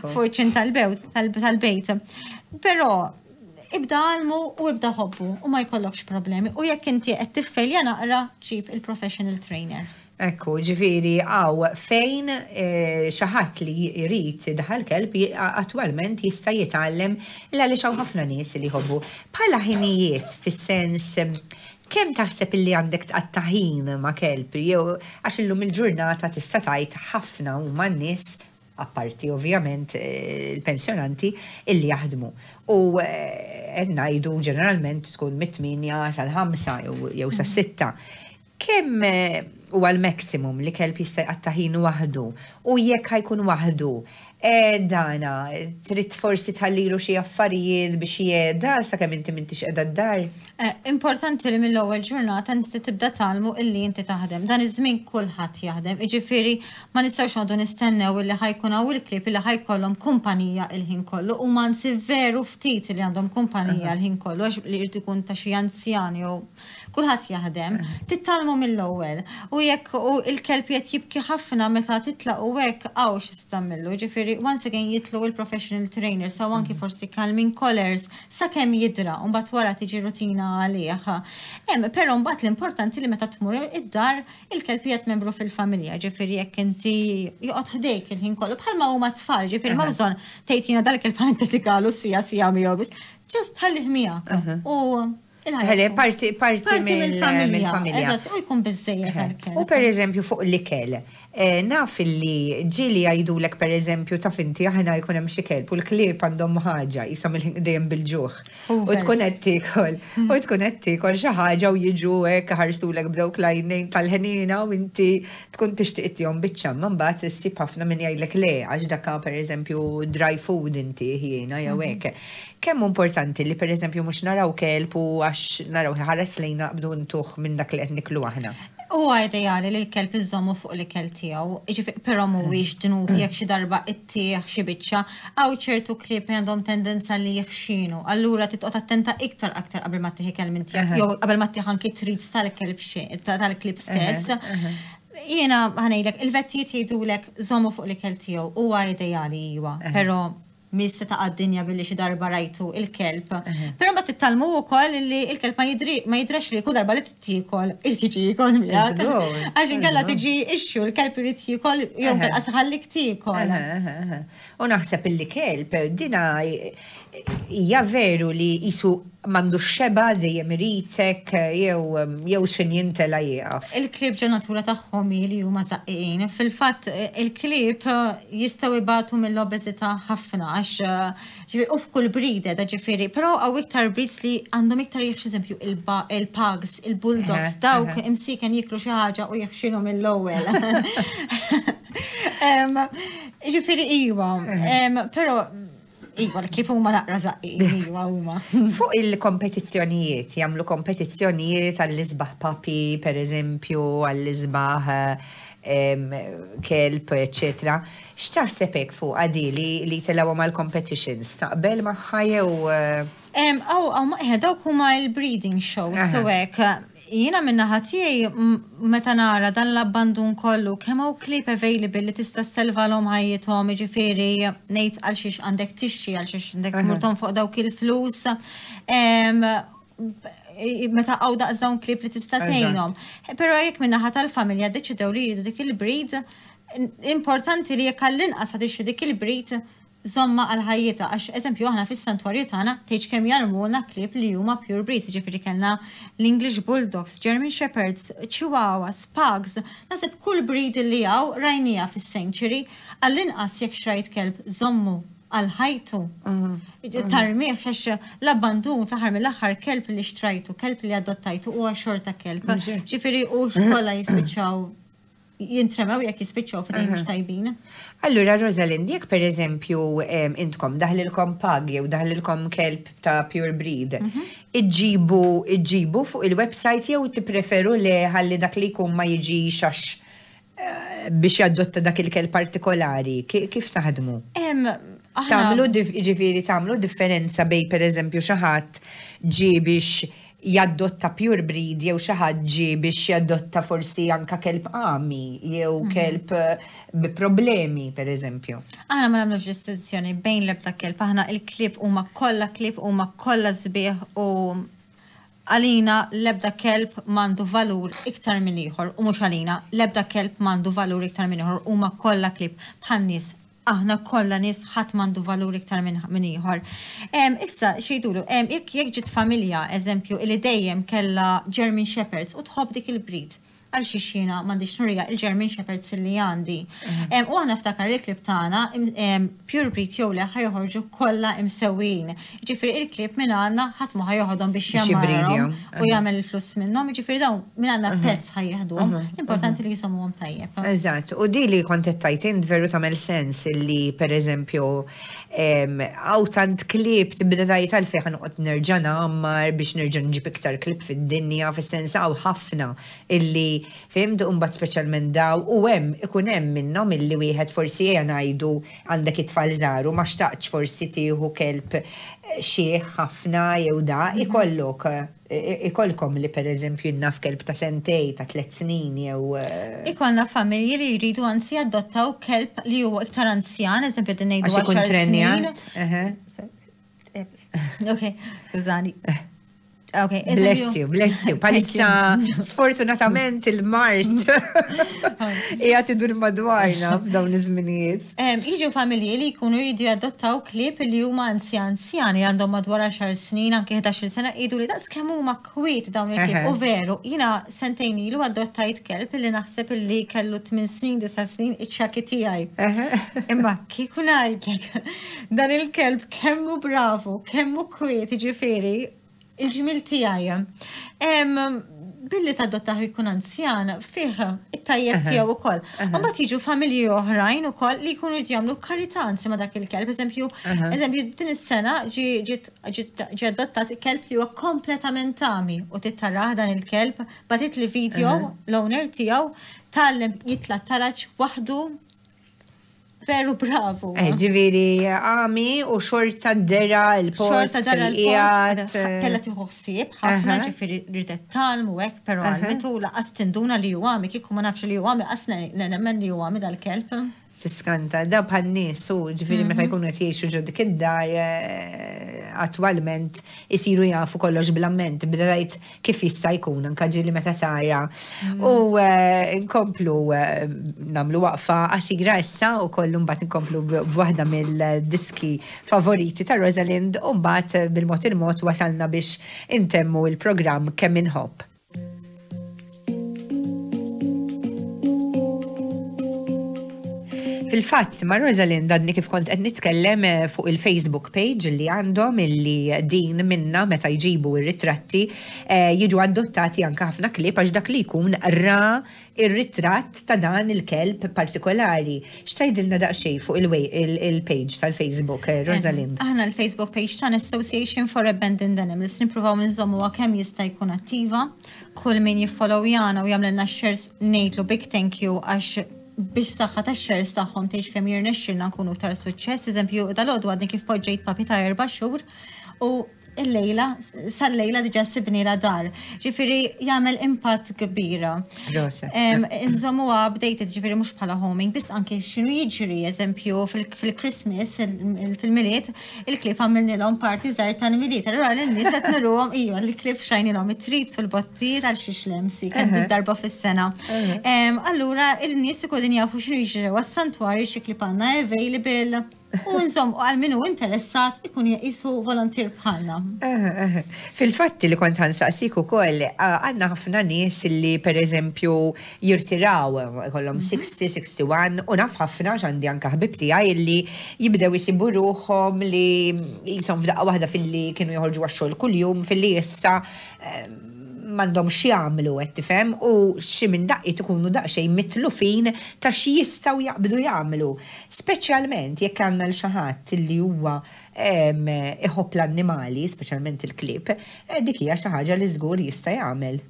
fuq iċ-ċinta tal-bejt. Però ibda għallmu u ibda ħobbu u ma jkollokx problemi. U jekk inti qed tiffelja naqra, ġib il-professional trainer. Ekku, ġifieri, hawn fejn xi ħadd li jrid daħal kelb attwalment jista' jitgħallem l għaliex hawn ħafna nies li jħobbu. Bħala ħinijiet, fis-sens, kemm taħseb illi għandek tqatta' ħin ma' kelb, jew għax illum il-ġurnata tista' tgħid ħafna huma n-nies, apparti ovvjament il-pensjonanti illi jaħdmu. U qed ngħidu ġeneralment tkun mit-8 sal-5 jew sas-6. Kemm huwa l-maximum li kelb jista' jqatta' ħin waħdu u jekk ħa jkun waħdu, dana trid forsi tħallilu xi affarijiet biex jeda sakemm inti m'intix qiegħda d-dar? Importanti li mill-ewwel ġurnata inti tibda tgħallmu illi inti taħdem. Dan iż-żmien kulħadd jaħdem. Jiġifieri ma nistgħux noqogħdu nistennew illi ħa jkun hawn il-klieb illi ħa jkollhom kumpanija il-ħin kollu u anzi veru ftit li għandhom kumpanija l-ħin kollu għax li jrid ikun ta' xi anzjan jew. Kulħadd jaħdem, titgħallmu mill-ewwel. U jekk u il-kelb qed jibki ħafna meta titlaq u hekk hawn x'tagħmillu. Ġifieri once again jidħlu il-professional trainers, saw anki forsi calming collars, sakemm jidra, u mbagħad wara tiġi rutina għalih. Però mbagħad l-importanti li meta tmur id-dar il-kelb qiegħed membru fil-familja, ġifieri jekk inti joqgħod ħdejk il-ħin kollu bħalma huma tfal, ġifieri ma bżonn tgħid jiena dal-kelb ħa niddedikalu siegħa siegħa miegħu biss. Just ħallih miegħek. U Ħalli parti mill-familja. Eżatt, u jkun biżejjed għall-kelb. U per eżempju fuq l-ikel, naf li ġieli jgħidulek per eżempju taf inti aħna jkun hemm xi kelb u l-klieb għandhom ħaġa jisom dejjem bil-ġuħ. U tkun qed tiekol, u tkun qed tiekol xi ħaġa u jiġu hekk ħarsulek b'dawk l-għajnejn tal-ħniena u inti tkun tixtieq ittihom biċċa, ma mbagħad issib ħafna min jgħidlek le għax dakka per eżempju dry food inti ħjiena jew hekk. Kemm importanti li per eżempju mhux naraw kelb u għax naraw ħares lejna naqbdu ntuh minn dak li qed niklu aħna. Huwa ideali li l-kelb iżommu fuq l-ikel tiegħu, jiġifieri però mhuwiex dnub jekk xi darba ittih xi biċċa, hawn ċertu klieb li għandhom tendenza li jħxinu, allura titqgħod attenta iktar aktar qabel ma ttih ikel minn tiegħek, jew qabel ma ttih anki treats tal-kelb tal-klieb stess. Jiena ħa ngħidlek, il-vettijiet jgħidulek żommu fuq l-ikel tiegħu, huwa ideali iwa, però mis se taqa' d-dinja billi xi darba rajtu il-kelb. Però ma titgħallmu wkoll li il-kelb ma jidrax li kull darba li tiekol irid jiġi jiekol miegħek. Għax inkella tiġi issue l-kelb irid jiekol jew inkella ħallik tiekol. U naħseb illi kelb dina hija veru li jisu m'għandu xeba dejjem iritek jew xin jintela jieqaf. Il-klieb ġo natura tagħhom li huma żaqqiqin. Fil-fatt il-klieb jistgħu ibatu mill-obeżità ħafna għax ġifieri u f'kull breed da ġifieri, però hawn iktar breeds li għandhom iktar jieħx eżempju il-pugs, il-bulldogs, dawk imsiken jiklu xi ħaġa u jeħxinu mill-ewwel. Ġifieri iwa, però iwa, l-klieb huma naqra żaqqin, iwa huma. Fuq il-kompetizzjonijiet, jagħmlu kompetizzjonijiet għall-isbaħ puppy, per eżempju, għall-isbaħ kelb, eccetera. X'taħseb hekk fuq għadi li telgħu mal-competitions? Taqbel magħha jew Aw, ma dawk huma il-breeding shows, so hekk. Jiena minna tiegħi meta nara dan l-abbandun kollu, kemm hawn klieb available li tista' ssalvalhom ħajjithom, jiġifieri ngħid għal xiex għandek tixtri, għal xiex għandek tmur fuq dawk il-flus. Meta hawn daqs dawn klieb li tista' tgħinhom. Però jekk min-naħa tal-familja deċidew li jridu dik il-breed, importanti li jekk għall-inqas ħa tixtri dik il-breed żommha għal ħajjitha, għax eżempju aħna fis-santwarju tagħna tgħidx kemm jarmuna klieb li huma pure breeds, ġifieri kellna l-English Bulldogs, German Shepherds, Chihuahuas, Pugs, naħseb kull breed li hawn rajnija fis-sanctuary, għall-inqas jekk xtrajt kelb żommu għal ħajtu. Tarmih għax l-abbandun fl-aħħar mill-aħħar kelb li xtrajtu, kelb li adottajtu huwa xorta kelb. Ġifieri u xkolla jispiċċaw jintremew jekk jispiċċaw f'idejn mhux tajbin. Allura, Rosalind, jekk per eżempju intkom daħlilkom pug jew daħlilkom kelb ta' pure breed, iġġibu fuq il-website jew tippreferu li ħalli dak li jkun ma jiġix għax biex jadotta dak il-kelb partikolari? Kif taħdmu? Tagħmlu ġifieri tagħmlu differenza bejn per eżempju xi ħadd ġie biex jadotta pure breed jew xi ħadd ġie biex jadotta forsi anka kelb għami jew kelb bi problemi per eżempju? Aħna ma nagħmlux distinzjoni bejn l-ebda kelb, aħna il-klieb huma kollha klieb huma kollha sbieħ u għalina l-ebda kelb m'għandu valur iktar minn ieħor u mhux għalina l-ebda kelb m'għandu valur iktar minn ieħor huma kollha klieb bħal nies. Aħna kollha nies ħadd m'għandu valur iktar minn ieħor. Issa xejdulu, jekk ġiet familja, eżempju, li dejjem kellha German Shepherds u tħobb dik il-breed, għal xiex jiena m'għandix nurija il-German Shepherds li għandi. U aħna ftakar il-klieb tagħna pure breed jew le ħa joħorġu kollha imsewwin. Ġifieri il-klieb minn għandna ħadd ma ħa joħodhom biex Biex jgħammarhom jibridihom. u jagħmel il-flus minnhom, ġifieri dawn minn għandna pets ħa jieħduhom. Importanti li jisommuhom tajjeb. Eżatt, u di li kont qed tgħid int veru tagħmel sens li per eżempju hawn tant klieb tibda tgħid għalfejn ħa noqgħod nerġa' ngħammar biex nerġa' nġib iktar klieb fid-dinja, fis-sens hawn ħafna illi fhimt, u mbagħad speċjalment daw u hemm ikun hemm minnhom illi wieħed forsi ejja ngħidu għandek it-tfal żgħar u ma xtaqtx forsi tieħu kelb xiħ ħafna jew da, ikollok ikollkom li pereżempju jien naf kelb ta' sentej, ta' tlett snin jew. Ikollna familji li jridu anzi jadottaw kelb li huwa iktar anzjan, eżempju qegħdin ngħidu Għax ikun 10 snin. trenjat. Eħe. Ok, skużani. Ok, Bless you, bless you. Palissa, sfortunatament il-mart hija tidur madwarna f'dawn iż-żminijiet. Jiġu familji li jkunu jridu jadottaw klieb li huma anzjan anzjani għandhom madwar 10 snin, anke 11 sena, jgħidu li daqs kemm huma kwiet dawn il-klieb. U veru, jiena sentejn ilu adottajt kelb li naħseb li kellu 8 snin, 9 snin, iċ-ċaki tiegħi. Imma kieku ngħidlek dan il-kelb kemm hu bravu, kemm hu kwiet, jiġifieri il-ġmil tiegħi. Billi tadottaħ jkun anzjan, fih it-tajjeb tiegħu ukoll. Mbagħad jiġu familji oħrajn ukoll li jkunu jridu jagħmlu karità anzi ma' dak il-kelb. Eżempju, eżempju din is-sena ġi adottat kelb li huwa kompletament tami u tittarah dan il-kelb, bagħtit li video l-owner tiegħu tgħallem jitla' taraġ waħdu. Veru bravu. Ġifieri, għami u xorta dera il-post. Xorta dera il-post. Qiegħed, Kella tieħu ħsieb ħafna, ġifieri ridet talm u hekk, però għalmitu laqas tinduna li hu għami, kieku ma nafx li hu għami, qas nemmen li hu għami dal-kelb. Tiskanta, da bħal nies u ġifieri meta jkunu qed jgħixu ġo dik id-dar attwalment isiru jafu kollox bl-amment, bda tgħid kif jista' jkun anke ġieli meta tara. U nkomplu nagħmlu waqfa qasira issa u kollu mbagħad nkomplu b'waħda mill-diski favoriti ta' Rosalind u mbagħad bil-mod il-mod wasalna biex intemmu il-programm Kemm Inħobb. Fil-fatt, ma' Rosalind għadni kif kont qed nitkellem fuq il-Facebook page li għandhom illi din minna meta jġibu ir-ritratti jiġu adottati anke ħafna klieb għax dak li jkun ra ir-ritratt ta' dan il-kelb partikolari. X'tgħidilna daqsxejn fuq il-page tal-Facebook, Rosalind? Aħna l-Facebook page tan Association for Abandoned Animals nippruvaw nżommuha kemm jista' jkun attiva. Kull min jiffollowjana u jagħmlilna shares ngħidlu big thank you għax biex saħħa ta' shares tagħhom tgħix kemm jirnexxilna nkunu iktar suċċess. Eżempju, dalgħodu għadni kif poġġejt puppy ta' 4 xhur u il-lejla, sal-lejla diġà sibni la dar. Ġifieri jagħmel impatt kbira. Rosa. Inżommu updated, ġifieri mhux bħala homing, biss anke x'inhu jiġri, eżempju fil-Christmas, fil-Milied, il-klieb għamilnilhom party żgħir tal-Milied. Allura lin-nies qed nuruhom iva, l-klieb xajnilhom it-treats u l-bottijiet għal xi xlemsi, kemm darba fis-sena. Allura il-nies ikunu jafu x'inhu jiġri għas-santwarju xi klieb għandna available. U nżomm, għal min hu interessat ikun jisu volontier bħalna. Fil-fatti li kont ħansaqsik ukoll, għandna ħafna nies li pereżempju jirtiraw, kollhom 60, 61, u naf ħafna x'għandi anke ħbib tiegħi li jibdew isibu ruħhom li jisom f'daqqa waħda filli kienu joħorġu għax-xogħol kuljum, filli issa m'għandhomx jagħmlu, qed tifhem, u xi minn daqqiet ikunu daqsxejn mitlufin ta' xi jistgħu jaqbdu jagħmlu. Speċjalment jekk għandna l xi ħadd li huwa iħobb l-annimali, speċjalment il-klieb, dik hija xi ħaġa li żgur jista' jagħmel.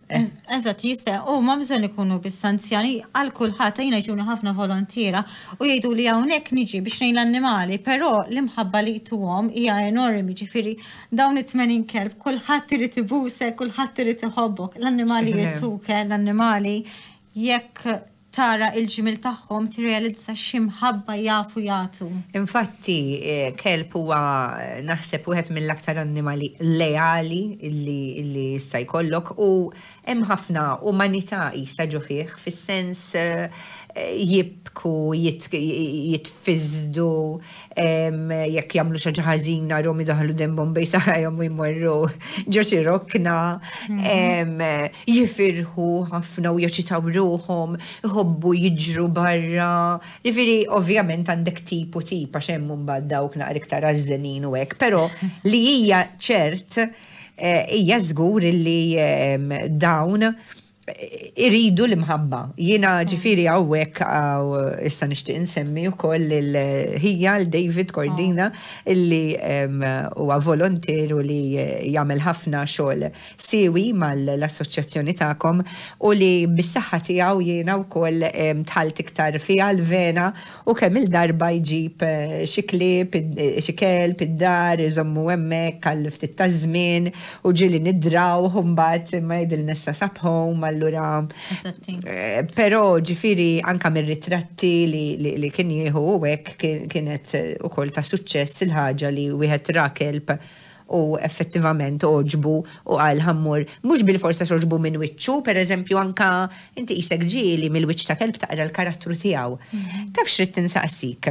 Eżatt, jista', u ma bżonn ikunu biss anzjani, għal kulħadd jiena jġuni ħafna volontiera u jgħidu li hawnhekk niġi biex ngħin l-annimali, però l-imħabba li jtuhom hija enormi, ġifieri dawn it-80 kelb, kulħadd irid ibusek, kulħadd irid iħobbok, l-annimali jtuk, l-annimali jekk tara il-ġmil tagħhom tirrealizza x'imħabba jafu jagħtu. Infatti, kelb huwa naħseb wieħed mill-aktar annimali leali illi jista' jkollok u hemm ħafna umanità jista' ġo fih, fis-sens jibku, jitfiżdu, jekk jagħmlu xi ħaġa ħażina rom idaħlu dembhom bejn saqajhom u jmorru ġo xi rokna, jifirħu ħafna u jeċitaw ruħhom, iħobbu jiġru barra. Ġifieri ovvjament għandek tip u tip għax hemm imbagħad dawk naqra iktar għażżenin u hekk, però li hija ċert hija żgur li dawn Iridu l-imħabba. Jiena ġifieri hawnhekk issa nixtieq insemmi wkoll lil ħija l David Cordina illi huwa volontier u li jagħmel ħafna xogħol siewi mal-assoċjazzjoni tagħkom u li bis-saħħa tiegħu jiena wkoll dħalt iktar fiha l-vena u kemm-il darba jġib xi klieb, xi kelb id-dar iżommu hemmhekk għal ftit taż-żmien u ġieli nidrawh u mbagħad imma jgħidilna issa sab home allura. Però ġifieri anke mir-ritratti li kien jieħu u hekk kienet ukoll ta' suċċess il-ħaġa li wieħed ra kelb u effettivament għoġbu u qal ħa mmur, mhux bilfors għax għoġbu minn wiċċu, per eżempju anka inti qisek ġieli mill-wiċċ ta' kelb taqra l-karattru tiegħu. Taf x'ridt insaqsik?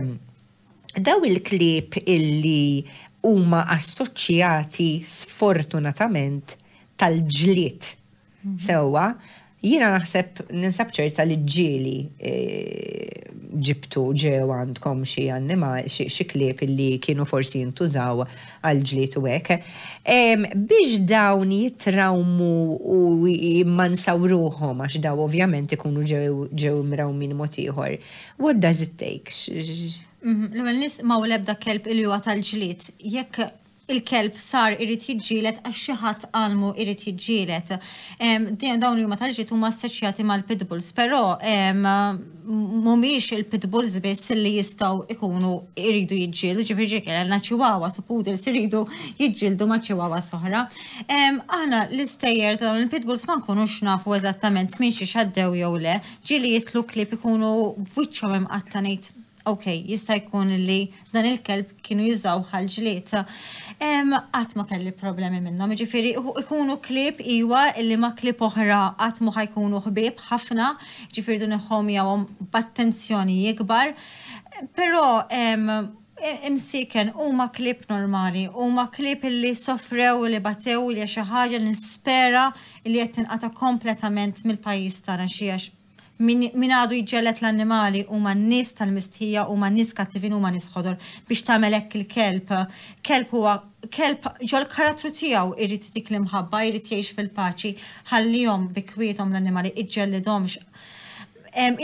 Daw il-klieb illi huma assoċjati sfortunatament tal-ġlied Sewwa, jiena naħseb ninsab ċerta li ġieli ġibtu ġew għandkom xi annimal, xi klieb illi kienu forsi jintużaw għal ġlied u hekk. Biex dawn jitrawmu u jimmansaw ruħhom għax daw ovvjament ikunu ġew ġew imrawmin mod ieħor. What does it take? L-ewwel nies m'hawn l-ebda kelb illi huwa tal-ġlied. Jekk il-kelb sar irid jiġġieled għax xi ħadd għallmu irid jiġġieled. Dawn li huma tal-ġlied huma assoċjati mal-pitbulls, però mhumiex il-pitbulls biss li jistgħu ikunu jridu jiġġieldu, ġifieri ġieli kellna chihuahuas u poodles iridu jiġġieldu ma' chihuahuas oħra. Aħna l-istejjer ta' dawn il-pitbulls ma nkunux nafu eżattament minn xiex għaddew jew le, ġieli jidħlu klieb ikunu b'wiċċhom imqatta' ngħid Ok, jista' jkun li dan il-kelb kienu jużaw għall-ġlied. Qatt ma kelli problemi minnhom, jiġifieri ikunu klieb iwa illi ma' klieb oħra qatt mhu ħa jkunu ħbieb ħafna, jiġifieri rridu niħħomjawhom b'attenzjoni ikbar. Però imsieken huma klieb normali, huma klieb illi sofrew, li batew, li hija xi ħaġa li nispera li qed tinqata' kompletament mill-pajjiż tagħna xi għax Min għadu jġelled l-annimali huma n-nies tal-mistħija, huma nies kattivin, huma nies ħodor. Biex tagħmel hekk il-kelb. Kelb huwa kelb ġol-karattru tiegħu irid dik l-imħabba, irid jgħix fil-paċi. Ħallihom bi kwiethom l-annimali, iġġellidhomx.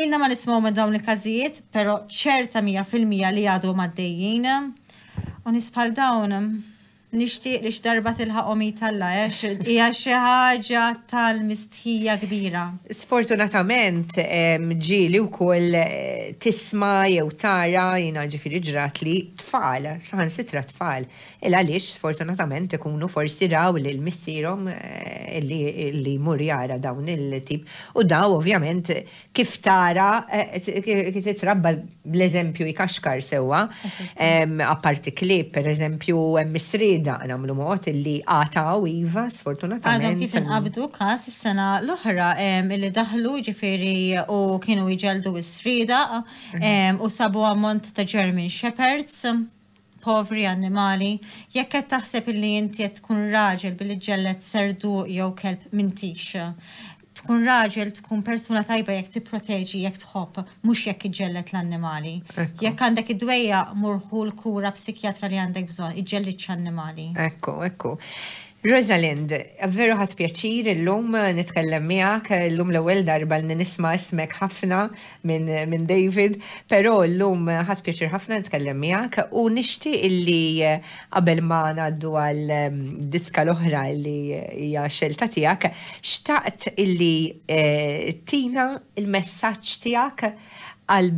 Ilna ma nismgħu minn dawn il-każijiet, però ċerta 100% li għadhom għaddejjin. U nies bħal dawn Nixtieq li x'darba tilħaqhom id Alla għax hija xi ħaġa tal-mistħija kbira. Sfortunatament ġieli wkoll tisma' jew tara, jiena ġifieri ġratli, tfal, saħansitra tfal, il għaliex sfortunatament ikunu forsi raw lil missierhom li jmur jara dawn il-tip u daw ovvjament Kif tara, kif titrabba bl-eżempju jkaxkar sewwa. Apparti klieb, per eżempju, hemm is-sriedaq nagħmlu mod illi għataw iva, sfortunatament. Għadhom kif inqabdu każ is-sena l-oħra illi daħlu ġifieri u kienu jġelldu s-sriedaq u sabu ammont ta' German Shepherds. Povri annimali, jekk qed taħseb illi inti qed tkun raġel billi ġġelled serduq jew kelb m'intix. Tkun raġel, tkun persuna tajba jekk tipproteġi, jekk tħobb, mhux jekk iġġelled l-annimali. Jekk għandek id-dwejjaq mur ħu l-kura psikjatra li għandek bżonn, iġġellidx annimali. Ekku, ekku. Rosalind, veru ħadt pjaċir illum nitkellem miegħek, illum l-ewwel darba li nisma' ismek ħafna minn min David, però llum ħadt pjaċir ħafna nitkellem miegħek u nixtieq illi qabel ma ngħaddu għal diska l-oħra li hija xelta tiegħek, xtaqt illi eh, tina il-messaġġ tiegħek għal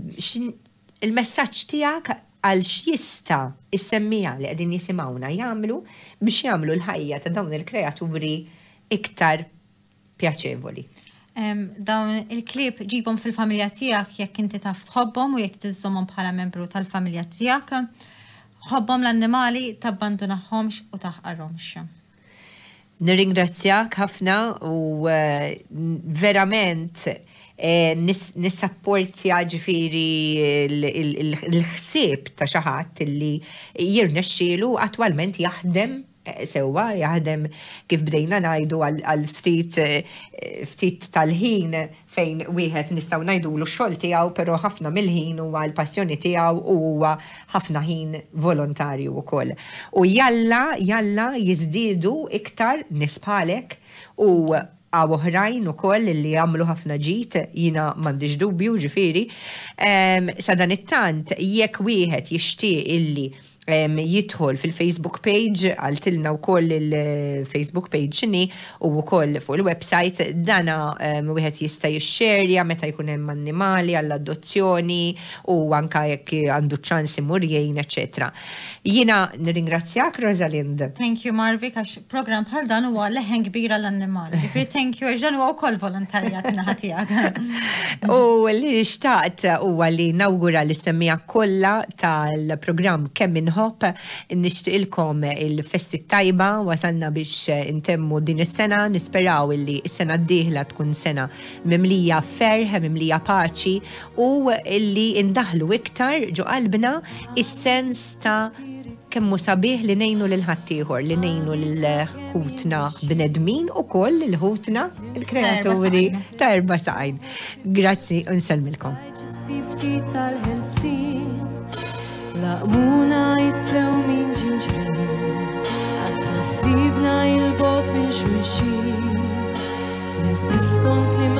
il-messaġġ tiegħek għal x'jista' s-semmiegħa li qegħdin jisimgħuna jagħmlu biex jagħmlu l-ħajja ta' dawn il-kreaturi iktar pjaċevoli. Dawn il-klieb ġibhom fil-familja tiegħek jekk inti taf tħobbhom u jekk tiżżommhom bħala membru tal-familja tiegħek. Ħobbhom l-annimali, tabbandunahomx u taħqarhomx. Nirringrazzjak ħafna u verament nissapportja ġifieri l-ħsieb ta' xi ħadd li jirnexxielu attwalment jaħdem sewwa, jaħdem kif bdejna ngħidu għal ftit ftit tal-ħin fejn wieħed nistgħu ngħidulu x-xogħol tiegħu però ħafna mill-ħin huwa l-passjoni tiegħu u huwa ħafna ħin volontarju wkoll. U jalla, jalla jiżdiedu iktar nies bħalek u Hawn oħrajn ukoll li għamlu ħafna ġid, jiena m'għandix dubju ġifieri. Sadanittant jekk wieħed jixtieq illi jidħol fil-Facebook page, għaltilna wkoll il-Facebook page x'inhi u wkoll fuq il-website, dana wieħed jista' jixxerja meta jkun hemm annimali għall-adozzjoni u anka jekk għandu ċans imur jgħin, eċċetera. Jiena nirringrazzjak, Rosalind. Thank you, Marvi, għax program bħal dan huwa leħen kbira l-annimali. Ġifieri thank you, għax dan huwa wkoll volontarjat naħa tiegħek. U li xtaqt huwa li nawgura lis-semmiegħa kollha tal-programm Kemm Inħobb, nixtieqilkom il-festi tajba, wasalna biex intemmu din is-sena, nisperaw illi s-sena d-dieħla tkun sena mimlija ferħ, mimlija paċi u illi indaħlu iktar ġo qalbna is-sens ta' kemm hu sabiħ li ngħinu lil ħaddieħor, li ngħinu lil ħutna bnedmin ukoll lil ħutna il-kreaturi ta' erba' saqajn. Grazzi u nsellmilkom. Laqmuna it-tewmin ġinġrin, qatt ma sibna il-bot minn xulxin. Nies biskont li